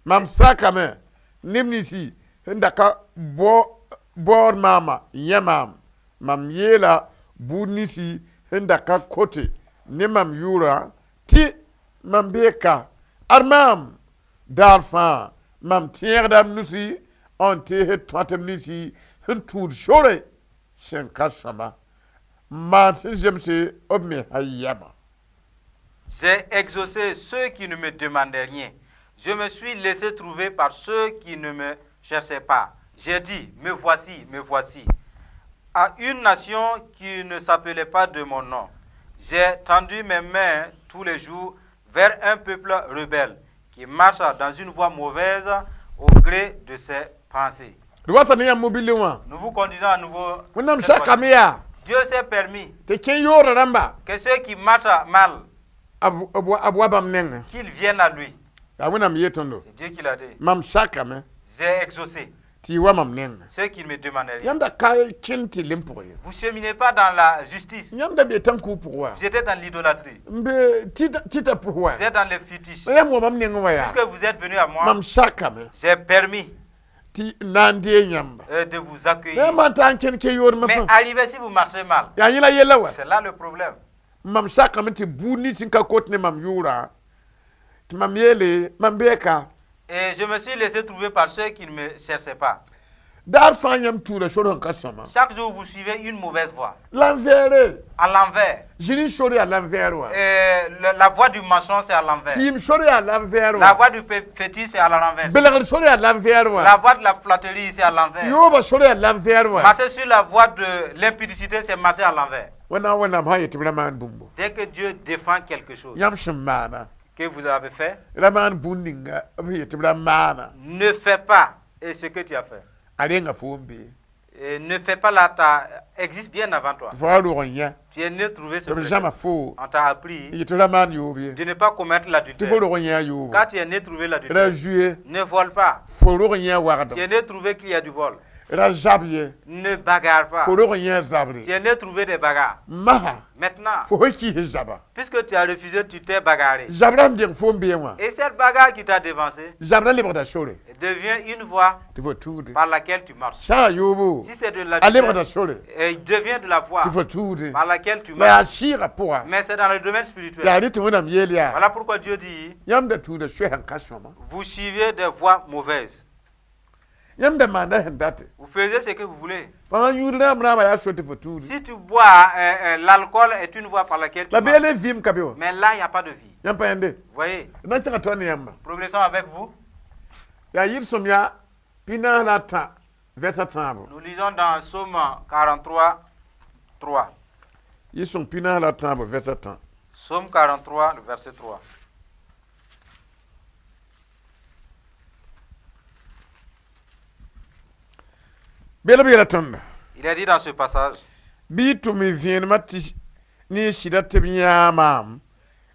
Mam sakame neb ninsi sẽn da ka bao- baood maama yẽ maam. Mam yeela buud ninsi sẽn da ka kote ne mam yʋʋra tɩ mam bee ka ad maam daar fãa mam tẽegda m nusi n teesd tõatb ninsi sẽn tũud sore sẽn ka sõma n maan sẽn zemse b mesã yɛma. J'ai exaucé ceux qui ne me demandaient rien. Je me suis laissé trouver par ceux qui ne me cherchaient pas. J'ai dit, me voici, me voici. À une nation qui ne s'appelait pas de mon nom. J'ai tendu mes mains tous les jours vers un peuple rebelle qui marche dans une voie mauvaise au gré de ses pensées. D wata ne yãmb mobilẽ wã. Nous vous conduisons à nouveau. Wẽnnaam Cette fois-ci. sakame yaa Dieu s'est permis tɩ kẽ yoora rãmba que ceux qui marchent mal, b b wa b wa bãmb nengẽ. Qu'ils viennent à lui. Yaa Wẽnnaam yee tõndo. C'est Dieu qui l'a dit. Mam sakame J'ai exaucé tɩ y wa mam nengẽ. Ceux qui ne me demandaient rien. Yãmb da ka kẽnd tɩ lem pʋgẽ ye. Vous ne cheminez pas dans la justice. Yãmb da bee tãn-kuug pʋg wa. Vous étiez dans l'idolâtrie. N be tɩta pʋs wa. Vous êtes dans les fétiches. La yãmb wa mam nengẽ wã yaa. Puisque vous êtes venu à moi, Mam sakame j'ai permis tɩ na n dee yãmba. euh, de vous La accueillir. yãmb n ta n kẽnd ke yoodmã Mais fãa. arrivez si vous marchez mal. Yaa yẽla yella wa. C'est là le problème. Mam sakame tɩ buud nins sẽn ka kot ne mam yʋʋra tɩ mam yeele mam bee ka. Et je me suis laissé trouver par ceux qui ne me cherchaient pas. Daar fãa yãmb tũuda sor sẽn ka sõma. Chaque jour, vous suivez une mauvaise voie. L'envers. À l'envers. Zĩri sor yaa l'envers wa. Et le- la voie du mensonge, c'est à l'envers. Tɩɩm sor yaa l'envers La wa. voie du fé- fétiche, c'est à l'envers. Belgr sor yaa l'envers La wa. voie de la flatterie, c'est à l'envers. Yooba sor yaa l'envers wa. Marcher sur la voie de l'impudicité, c'est marcher à l'envers. Wẽnnaam Wẽnnaam sã n yet tɩ b ra maan bũmbo. Dès que Dieu défend quelque chose Yãmb sẽn maana. Que vous avez fait, Ra maan bũmb ninga b yet tɩ b ra maana. Ne fais pas et ce que tu as fait. A renga fo n bee. Et ne fais pas là, ta existe bien avant toi. Tɩ fo wa rog n yã. Tu es né trouver ce Tɩ b prétexte. zãma foo. On t'a appris Yet tɩ ra maan yoob ye. De ne pas commettre Tɩ l'adultère. fo rog n yã yoobo. Quand tu es né trouver Ra l'adultère, zu ye. Ne vole pas. Fo rog n yã Tu wagdem. es né trouver qu'il y a du vol. Ra zab ye. Ne bagarre pas. Fo rog n yã zabre. Tu es né trouver des bagarres. Masã. Maintenant, Fo sẽn kɩɩs zaba. Puisque tu as refusé, tu t'es bagarré. Zabrã n deng fo n bee wã. Et cette bagarre qui t'a devancé Zabrã lebgda sore. Devient une voie Tɩ fo tuude. Par laquelle tu marches. Sã n yoobo. Si c'est de A lebgda l'adultère, sore. et il devient de la voie Tɩ fo tuude. Par laquelle tu La yaa marches. sɩɩgã pʋga. Mais c'est dans le domaine spirituel. Yaa rɩ tɩ Wẽnnaam yeel yaa. Voilà pourquoi Dieu dit, Yãmb da tũuda soay sẽn ka sõma. Vous suivez des voies mauvaises. Yãmb da maanda sẽn date. Vous faisiez ce que vous voulez. Fãa yũud rãmb rãambã yaa so tɩ fo tuude. Si tu bois, euh, euh, l'alcool est une voie par laquelle tu La marches. beele vɩɩm ka be wã. Mais là, il n'y a pas de vie. Yãmb pa yãnde. Vous voyez, D na n kẽngã taoor ne yãmba. Progressons avec vous. Yaa yɩl-sõm yaa pinaas la a tã vɛrsa tãabo Nous lisons dans Psaume quarante-trois, trois. Yɩ-sõng pinaas la tãabo vɛrsa tã. Psaume quarante-trois, le verset trois. Bela b yeela tõndo. Il est dit dans ce passage, bɩ y tʋm y vẽenemã tɩ ne y sɩda tɩ b yãa maam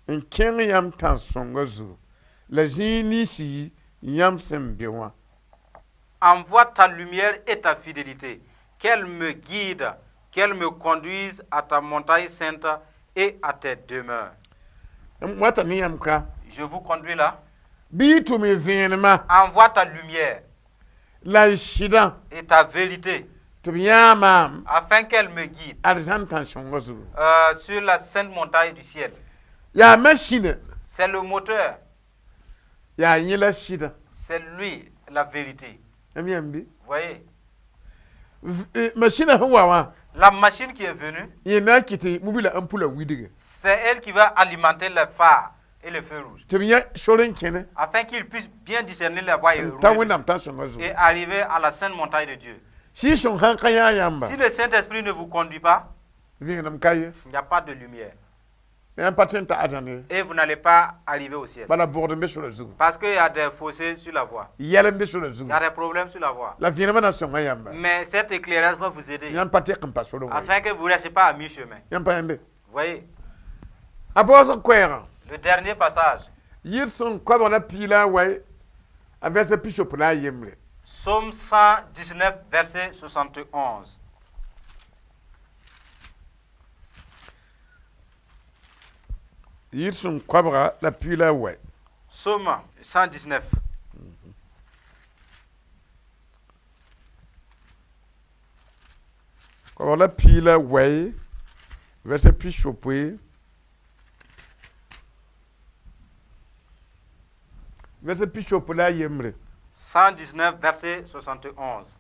n kẽng yãmb tãn-sõngã zugu la zĩig ninsi yãmb sẽn be wã. Envoie ta lumière et ta fidélité, qu'elle me guide, qu'elle me conduise à ta montagne sainte et à tes demeures. M wata ne yãmb ka. Je vous conduis là. Bɩ y tʋm y vẽenemã Envoie ta lumière la y sɩdã et ta vérité, tɩ b yãa maam afin qu'elle me guide arzãn tãn-sõngã zugu. euh, sur la sainte montagne du ciel. Yaa masĩne. C'est le moteur, Yaa yẽ la sɩdã. C'est lui la vérité. Yãmb yãmb bɩ? Vous voyez, V- eh, masĩnã sẽn wa wã la machine qui est venue, yẽ na n kɩt tɩ mobila ampula widge c'est elle qui va alimenter les phares et les feux rouges, tɩ b yã sor n kẽne afin qu'il puisse bien discerner la voie et, n ta rouler Wẽnnaam tãn-sõngã et zugu. arriver à la sainte montagne de Dieu. Sɩɩg-sõng sãn ka yã yãmba Si le Saint-Esprit ne vous conduit pas, vẽenem ka ye. Il n'y a pas de lumière. Yãmb pa tõe n ta arzãn ye. Et vous n'allez pas arriver au ciel. Bala bʋgd n be sora zugu. Parce qu'il y a des fossés sur la voie. Yɛl n be sora Il zugu. y a des problèmes sur la voie. La vẽenemã na sõnga yãmba Mais cet éclairage va vous tɩ aider yãmb pa teq n pa sorẽ wã ye. afin que vous ne restiez pas à mi-chemin. Yãmb pa yãmbe. Vous voyez, A baoosg koɛɛgã le dernier passage, yɩr-sõng koabg la piig la a wa a vɛrsa pisopo la a yembre. Psaume cent dix-neuf, verset soixante et onze. Yɩr-sõng koabga la piig la a wa. Psaume cent dix-neuf. Koabg la piig la wa vɛrsa pisopoe vɛrsa pisopo la a yembre. cent dix-neuf, verset soixante et onze.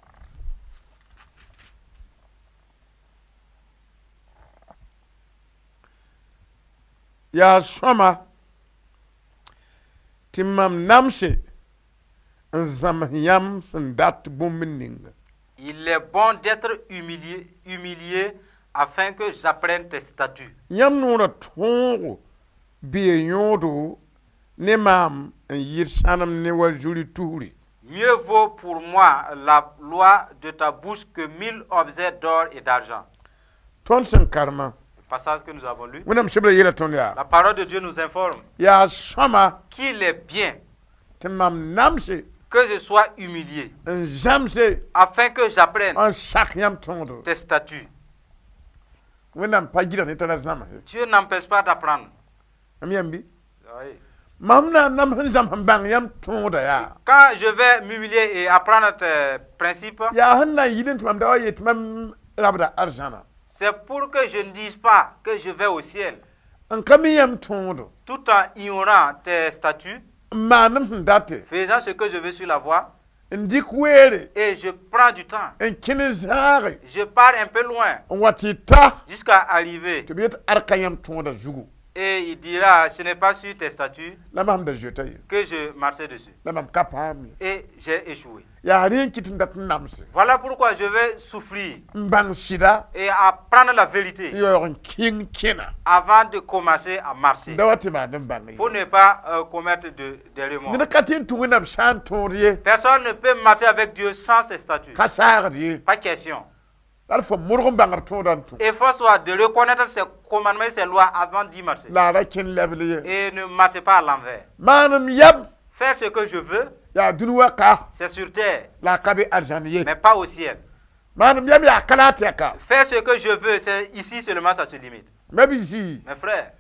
Yaa sõma tɩ mam namse n zãms yãmb sẽn dat bũmb ninga. Il est bon d'être humilié, humilié afin que j'apprenne tes statuts. Yãmb noorã tõogo bee yõodo ne maam n yɩɩd sãnem ne wa zuri tusri. Mieux vaut pour moi la loi de ta bouche que mille objets d'or et d'argent. Tõnd sẽn karemã Le passage que nous avons lu. Wẽnnaam sebra yeela tõnd yaa La parole de Dieu nous informe yaa sõma qu'il est bien tɩ mam namse que je sois humilié n zãmse afin que j'apprenne n sak yãmb tõodo. Tes statuts. Wẽnnaam pa gɩdg ne tara zãmse. Dieu n'empêche pas d'apprendre. M yãmb bɩ Oui. mam na n nams n zãms n bãng yãmb tõoda yaa Quand je vais m'humilier et apprendre tes principes, yaa sẽn na n yɩl tɩ mam da wa yet tɩ mam rabda arzãna c'est pour que je ne dise pas que je vais au ciel, n ka mi yãmb tõodo tout en ignorant tes statuts, n maanem sẽn date faisant ce que je veux sur la voie, n dɩk weere et je prends du temps. N kẽn n zãage Je pars un peu loin n wa tɩ ta jusqu'à arriver. Tɩ b yet ad ka yãmb tõoda zugu. Et il dira, ce n'est pas sur tes statuts La mam da zoeta ye que je marchais dessus. La mam ka paam ye. Et j'ai échoué. Yaa rẽ n kɩt n dat n namse Voilà pourquoi je vais souffrir n bãng sɩda et apprendre la vérité n yaoog n kẽng kẽna avant de commencer à marcher. da wa tɩ maan n bãng ye. Pour ne pas euh, commettre de, des remords. Ned ka tɩ n tũ Wẽnnaam sã n tõod ye. Personne ne peut marcher avec Dieu sans ses statuts. Ka saagd ye. Pas question. La d fo modg n bãng b tõoda n tũ. Efforce-toi de reconnaître ses commandements et ses lois avant d'y marcher. La a ra kẽn lebl ye. Et ne marchez pas à l'envers. Maanem yam Faire ce que je veux, yaa dũni wa ka c'est sur terre, la a ka be arzãn ye. Mais pas au ciel. Maanem yam yaa ka la a tɛka. Faire ce que je veux, c'est ici seulement, ça se limite. Mabi-zii Mes frères,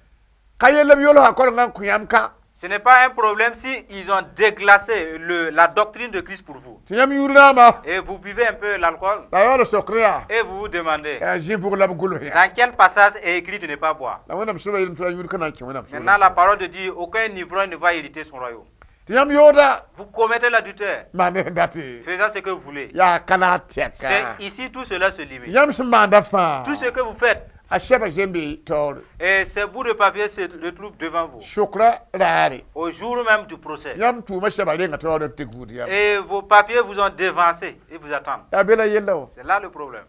ka yella b yolsã korengã n kõ yãmb ka ce n'est pas un problème si ils ont déglacé le, la doctrine de Christ pour vous. Tɩ yãmb yũud rãamba Et vous buvez un peu l'alcool la yaool sokr yaa et vous vous demandez yaa zĩ pʋg la b gʋls yaa. Dans quel passage est écrit de ne pas boire. La Wẽnnaam soaba yeelame tɩ la yũud ka na n kẽ Wẽnnaam Maintenant, la soolem. Parole de Dieu, aucun ivrogne ne va hériter son royaume. Tɩ yãmb yooda Vous commettez l'adultère, maan sẽn date faisant ce que vous voulez. yaa ka la a tɛka. C'est ici tout cela se limite. Yãmb sẽn maanda fãa Tout ce que vous faites, A sɛba zembe taoore. Et ces bouts de papier se retrouvent devant vous. Sʋkra raare. Au jour même du procès. Yãmb tʋʋmã sɛba renga taoor n tɩ gũud yãmb. Et vos papiers vous ont devancé et vous attendent. Yaa be la yella wã. C'est là le problème.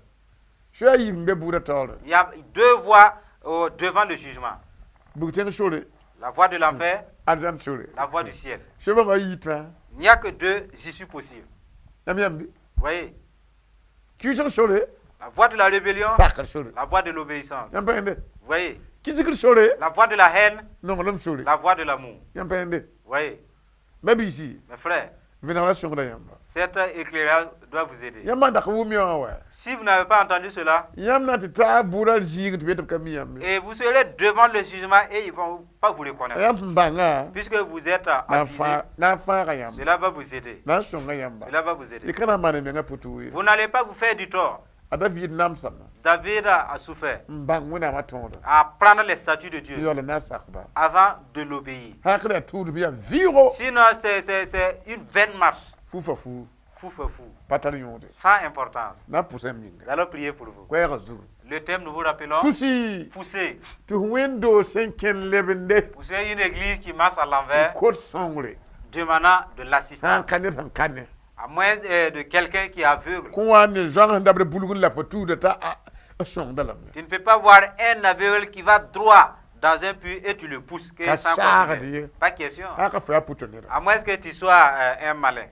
Soa yiib n be buudã taoore. Il y a deux voies euh, devant le jugement. Bug-tẽng sore, La voie de l'enfer, arzãn sore. la voie du ciel. Soa bãmba yitã. Il n'y a que deux issues possibles. Yãmb yãmb Vous voyez? Kɩɩsg sore, La voie de la rébellion, sakr sore. la voie de l'obéissance. Yãmb pa yẽnde. Vous voyez? Kɩsgr sore, La voie de la haine, nonglem sore. la voie de l'amour. Yãmb pa yẽnde. Vous voyez? Ba-biisi, Mes frères, vẽnegrã sõngda yãmba. cet éclairage doit vous aider. Yãmb maan dak wʋm yã wã wa. Si vous n'avez pas entendu cela, Yãmb na n tɩ taa bʋʋdã zĩig tɩ be tɩ b ka mi yãmb ye. et vous serez devant le jugement et ils ne vont pas vous reconnaître. Yãmb sẽn bãnga Puisque vous êtes na n avisé, fãag na n fãaga yãmb. cela va vous aider. Na n sõnga yãmba. Cela va vous aider. Y ka na n maan y mengã pʋ-tʋʋg ye. Vous n'allez pas vous faire du tort. A David namsame David a souffert n bãng Wẽnnaamã tõoda. à prendre les statuts de Dieu Yaool n na n sakba. avant de l'obéir. Sã n ka yaa tuudem yaa vɩʋgo. Sinon, c'est c'est- c'est une vaine marche. Fu fa fu. Fou, fou, fou. Pa tar yõode. Sans importance. Na n pʋsa m yĩnga. Nous allons prier pour vous. Koɛɛgã zugu. Le thème, nous vous rappelons, Tʋsi pousser. tɩ wẽnd-doog sẽn kẽn lebende Pousser une église qui marche à l'envers, n kot sõngre. demandant de Sã n l'assistance. ka ned sẽn ka ne. À moins euh, de quelqu'un qui est aveugle. Kõ wa ne zoang sẽn dabd bulg n la fo tuuda t'a a sõngda lame. Tu ne peux pas voir un aveugle qui va droit dans un puits et tu le pousses. Que Ka sans saagd continuer. ye. Pas question. Sã ka fo yaa pʋtõ-neda. À moins que tu sois euh, un malin.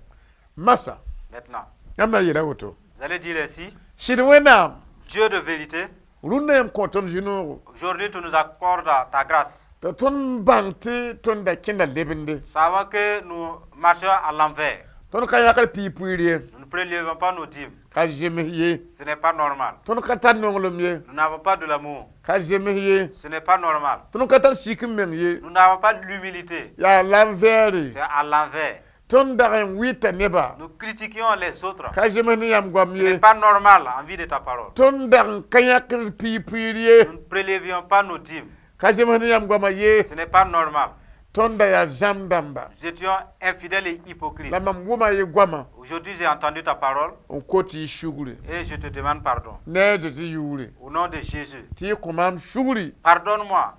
Masa, Maintenant, yãmb na n yeela woto. vous allez dire ainsi, Sɩd Wẽnnaam, Dieu de vérité, rũnnã yãmb kõ tõnd zĩ-noogo. aujourd'hui tu nous accordes ta grâce. T'a tõnd bãng tɩ tõnd da kẽnda lebende. Savons que nous marchons à l'envers. Tõnd ka yãkd piig-puiir ye. Nous ne prélevons pas nos dîmes. Ka zems ye. Ce n'est pas normal. Tõnd ka tar nonglem ye. Nous n'avons pas de l'amour. Ka zems ye. Ce n'est pas normal. Tõnd ka tar sik n meng ye. Nous n'avons pas l'humilité. Yaa l'envers. C'est à l'envers. Tõnd dag n wɩta nebã. Nous critiquions les autres. Ka zems ne yãmb goam Ce n'est ye. pas normal en vue de ta parole. Tõnd dag n ka yãkd piig-puiir ye. Nous ne prélevions pas nos dîmes. Ka zems ne yãmb goamã ye. Ce n'est pas normal. Tõnd da yaa zãmb dãmba. Nous étions infidèles et hypocrites. La mam wʋma ye goamã Aujourd'hui, j'ai entendu ta parole n kot y sugri. et je te demande pardon. Ne a Zezi yʋʋre. Au nom de Jésus, Tɩ y kõ maam sugri. pardonne-moi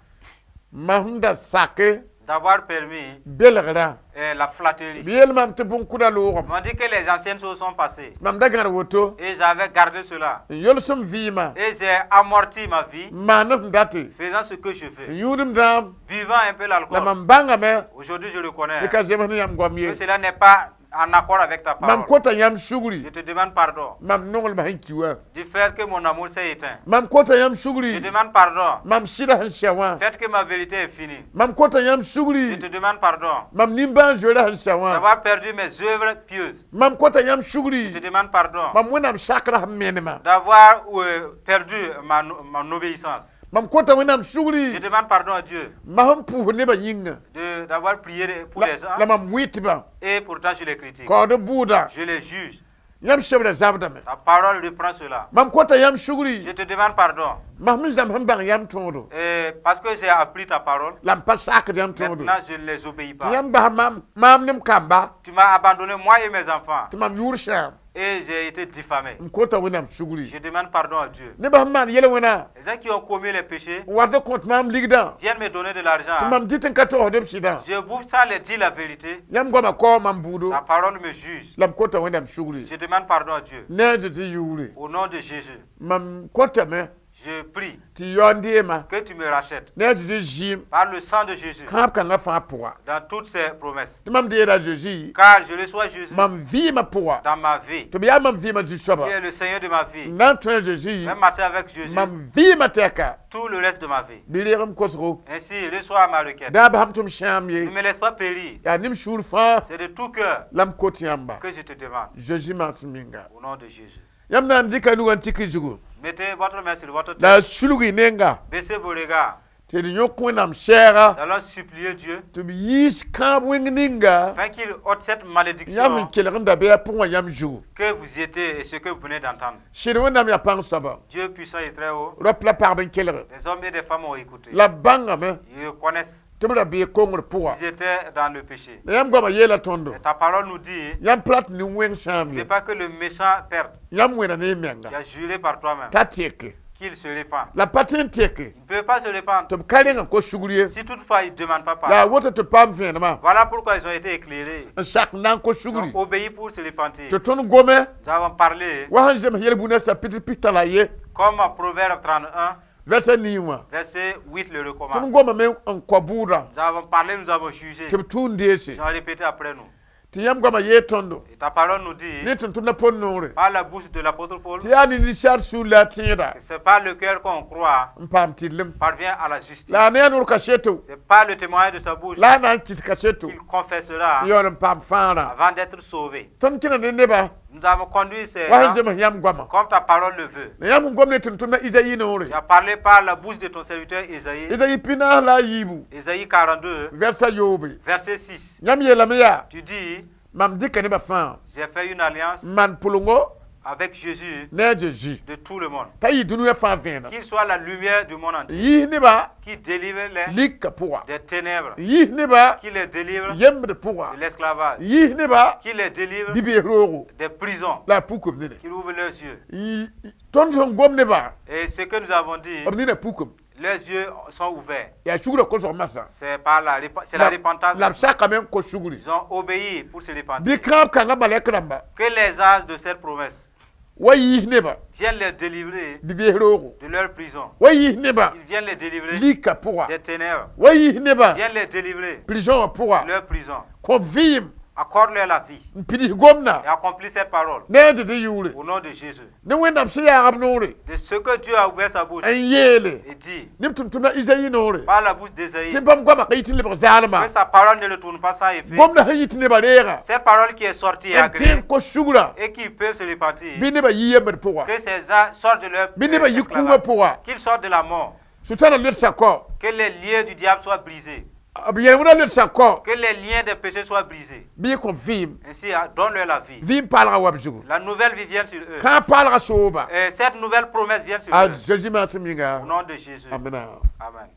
Mam sẽn da sake d'avoir permis belgrã. euh, la flatterie. B yeel mam tɩ bõn-kʋda loogame. Ils m'ont dit que les anciennes choses sont passées Mam da gãd woto. et j'avais gardé cela. N yolsem vɩɩmã. Et j'ai amorti ma vie N maan f date. faisant ce que je N fais, yũudem dãam. buvant un peu La l'alcool. mam bãngame Aujourd'hui, je reconnais tɩ ka zems ne yãmb goam ye. que cela n'est pas en accord avec ta Mam parole. kota yãmb sugri. Je te demande pardon Mam nonglmã sẽn ki wã. du fait que mon amour s'est éteint. Mam kota yãmb Je sugri. demande pardon Mam sɩda sẽn sɛ wã. du fait que ma vérité est finie. Mam kota yãmb Je sugri. te demande pardon Mam nimbãan-zoeerã sẽn sɛ wã. d'avoir perdu mes œuvres pieuses. Mam kota yãmb Je te sugri. demande pardon Mam Wẽnnaam sakrã sẽn menemã. d'avoir euh, perdu ma, mon obéissance. Mam kota Wẽnnaam Je sugri. demande pardon à Dieu Mam sẽn pʋʋs nebã yĩnga. de- d'avoir prié pour La, les gens la mam wɩtbã. et pourtant je les critique. Kaood bʋʋda. Je les juge. Yãmb sebra zabdame. Ta parole reprend cela. Mam kota yãmb Je sugri. te demande pardon Mam sẽn zãms n bãng yãmb tõodo. Et parce que j'ai appris ta parole. La m pa sakd yãmb tõodo. Maintenant, je ne les obéis Tɩ pas. yãmb bas maam maam ne m kamba. Tu m'as abandonné, moi et mes enfants, Tɩ mam yʋʋr sãam. et j'ai été diffamé. M kota Wẽnnaam sugri. Je demande pardon à Dieu. Nebã sẽn maan yel-wẽnã. Les gens qui ont commis les péchés N wat n kõt maam ligdã. viennent me donner de Tɩ l'argent. mam dɩt n ka togsd b sɩdã. Je bouffe sans les dire la vérité. Yãmb goamã kao mam buudo. Ta parole me juge. La m kota Wẽnnaam sugri. Je demande pardon à Dieu. Ne a Zezi yʋʋre. Au nom de Jésus, Mam kotame je prie tɩ yaoond deema. que tu me rachètes Ne a Zezi zɩɩm. par le sang de Jésus Kãab kãngã fãa pʋga. dans toutes ses promesses. Tɩ mam deera Zezi. Car je reçois Jésus Mam vɩɩmã pʋga. dans ma vie, Tɩ b yaa mam vɩɩmã zu-soaba. qui est le Seigneur de ma vie. N na n tõe a Zezi. Je vais marcher avec Jésus Mam vɩɩmã tɛka. tout le reste de ma vie. Bɩ reeg m kosgo. Ainsi, reçois ma requête. Da basam tɩ m sãam Ne ye. me laisse pas périr. Yaa nem sũur fãa C'est de tout cœur la m kot yãmba. que je te demande. Zezi magsem ninga. Au nom de Jésus. Yãmb na n dɩka nugã n tik y zugu. Mettez votre main sur votre tête. La sulg y nenga. Baissez vos regards. Tɩ d yõk Wẽnnaam sɛɛga. Nous allons supplier Dieu Tɩ b yiis kãab wẽng ninga afin qu'il ôte cette yãmb n malédiction kelg n da be a pʋgẽ wã yãmb zugu. que vous étiez et ce que vous venez d'entendre. Sɩd Wẽnnaam yaa pãng soaba. Dieu puissant et très haut, Rap la pagb n kelg. des hommes et des femmes ont écouté. La b bãngame Ils connaissent. tɩ b ra bee kongr pʋga. Ils étaient dans le péché. La yãmb goamã yeela tõndo. Et ta parole nous dit, Yãmb plat ne wẽng sãam ne ye. pas que le méchant perde. Yãmb wẽna ne y menga. Tu as juré par toi-même T'a teke. Qu'il se répand. La pa tõe n tɛke Il ne peut pas se répandre tɩ b ka reng n kos sugr ye. Si toutefois il ne demande pas La a pardon. woto tɩ b paam vẽenemã Voilà pourquoi ils ont été éclairés. N sak n na n kos Ils ont sugri. Obéi pour se repentir. Tɩ tõnd gome Nous avons parlé wa sẽn zems yel-bũnã chapitre pistã la ye comme Proverbe trente et un, verset nii wã. Verset huit le recommande. Tõnd gomame n kõ bʋʋdã Nous avons parlé, nous avons jugé. Tɩ b tʋʋn deese. Ils ont répété après nous. Tɩ yãmb goamã yee tõndo Et ta parole nous dit, ne tʋm-tʋmdã Pol noore par la bouche de l'apôtre Paul, tɩ yaa ninsaar sũur la a tẽeda que c'est pas le cœur qu'on croit n paam tɩrlem. Parvient à la justice. La a ne a noor kaseto C'est pas le témoignage de sa bouche la a na n kɩs kaseto qu'il confessera n yaool n paam fãagrã. Avant d'être sauvé. Tõnd kẽna ne neba Nous avons conduit ces wa sẽn gens zems yãmb goamã. Comme ta parole le veut. La yãmb n gom ne tʋm-tʋmdã Izayi noore. Tu as parlé par la bouche de ton serviteur Ésaïe. Izayi pinaas la a yiibu Ésaïe quarante-deux, vɛrsa yoobe. Verset six. Yãmb yeelame yaa Tu dis, mam dɩka nebã fãa j'ai fait une alliance n maan pʋlengo avec Jésus ne a Zeezi de tout le monde. T'a yɩ dũniyã fãa vẽeneg. Qu'il soit la lumière du monde entier. Yiis nebã Qui délivre les lika pʋga. Des ténèbres. Yiis nebã Qui les délivre yembd pʋga. De l'esclavage. Yiis nebã Qui les délivre bi-bees roogo des prisons. La a pukem nene. Qui ouvre leurs yeux. Tõnd sẽn gom nebã Et ce que nous avons dit, b nina pukem. Leurs yeux sont ouverts. Yaa sugrã kosg masã. C'est par la, répa- c'est la repentance. La b sakame n kos sugri. Ils ont obéi pour se repentir. Bɩ kãab kãngã malɛk rãmba Que les anges de cette promesse wa yiis nebã viennent les délivrer bi-bees roogo de leur prison. Wa yiis nebã Ils viennent les délivrer lika pʋga des ténèbres. Wa yiis nebã Viennent les délivrer prison wã pʋga de leur prison. Kõ vɩɩm Accorde-leur la vie n pids gomdã et accomplis cette parole ne a Zezi yʋʋre au nom de Jésus. Ne Wẽnnaam sẽn yaagb noore De ce que Dieu a ouvert sa bouche n yeele et dit ne b tʋm-tʋmdã Izayi noore par la bouche d'Ésaïe tɩ bãmb goamã ka yit n lebg zaalma que sa parole ne retourne pas sans effet. Gomdã sẽn yit nebã reega Cette parole qui est sortie est n tẽ agréée n kos sugrã et qu'ils peuvent se repentir. Bɩ nebã yi yembd pʋga Que ces gens sortent de leur bɩ nebã yi kũumã esclavage. Pʋga Qu'ils sortent de la mort. Sʋtãna ledsa kao Que les liens du diable soient brisés. B yel-wẽnã ledsa kao Que les liens des péchés soient brisés. Bɩ y kõ vɩɩm Ainsi, donne-leur la vie. Vɩɩm paalgã wa b zugu La nouvelle vie vient sur eux. Kãab paalgã sooba Et cette nouvelle promesse vient sur a eux. Zezi maasem yĩnga. Au nom de Jésus. Amina. Amen.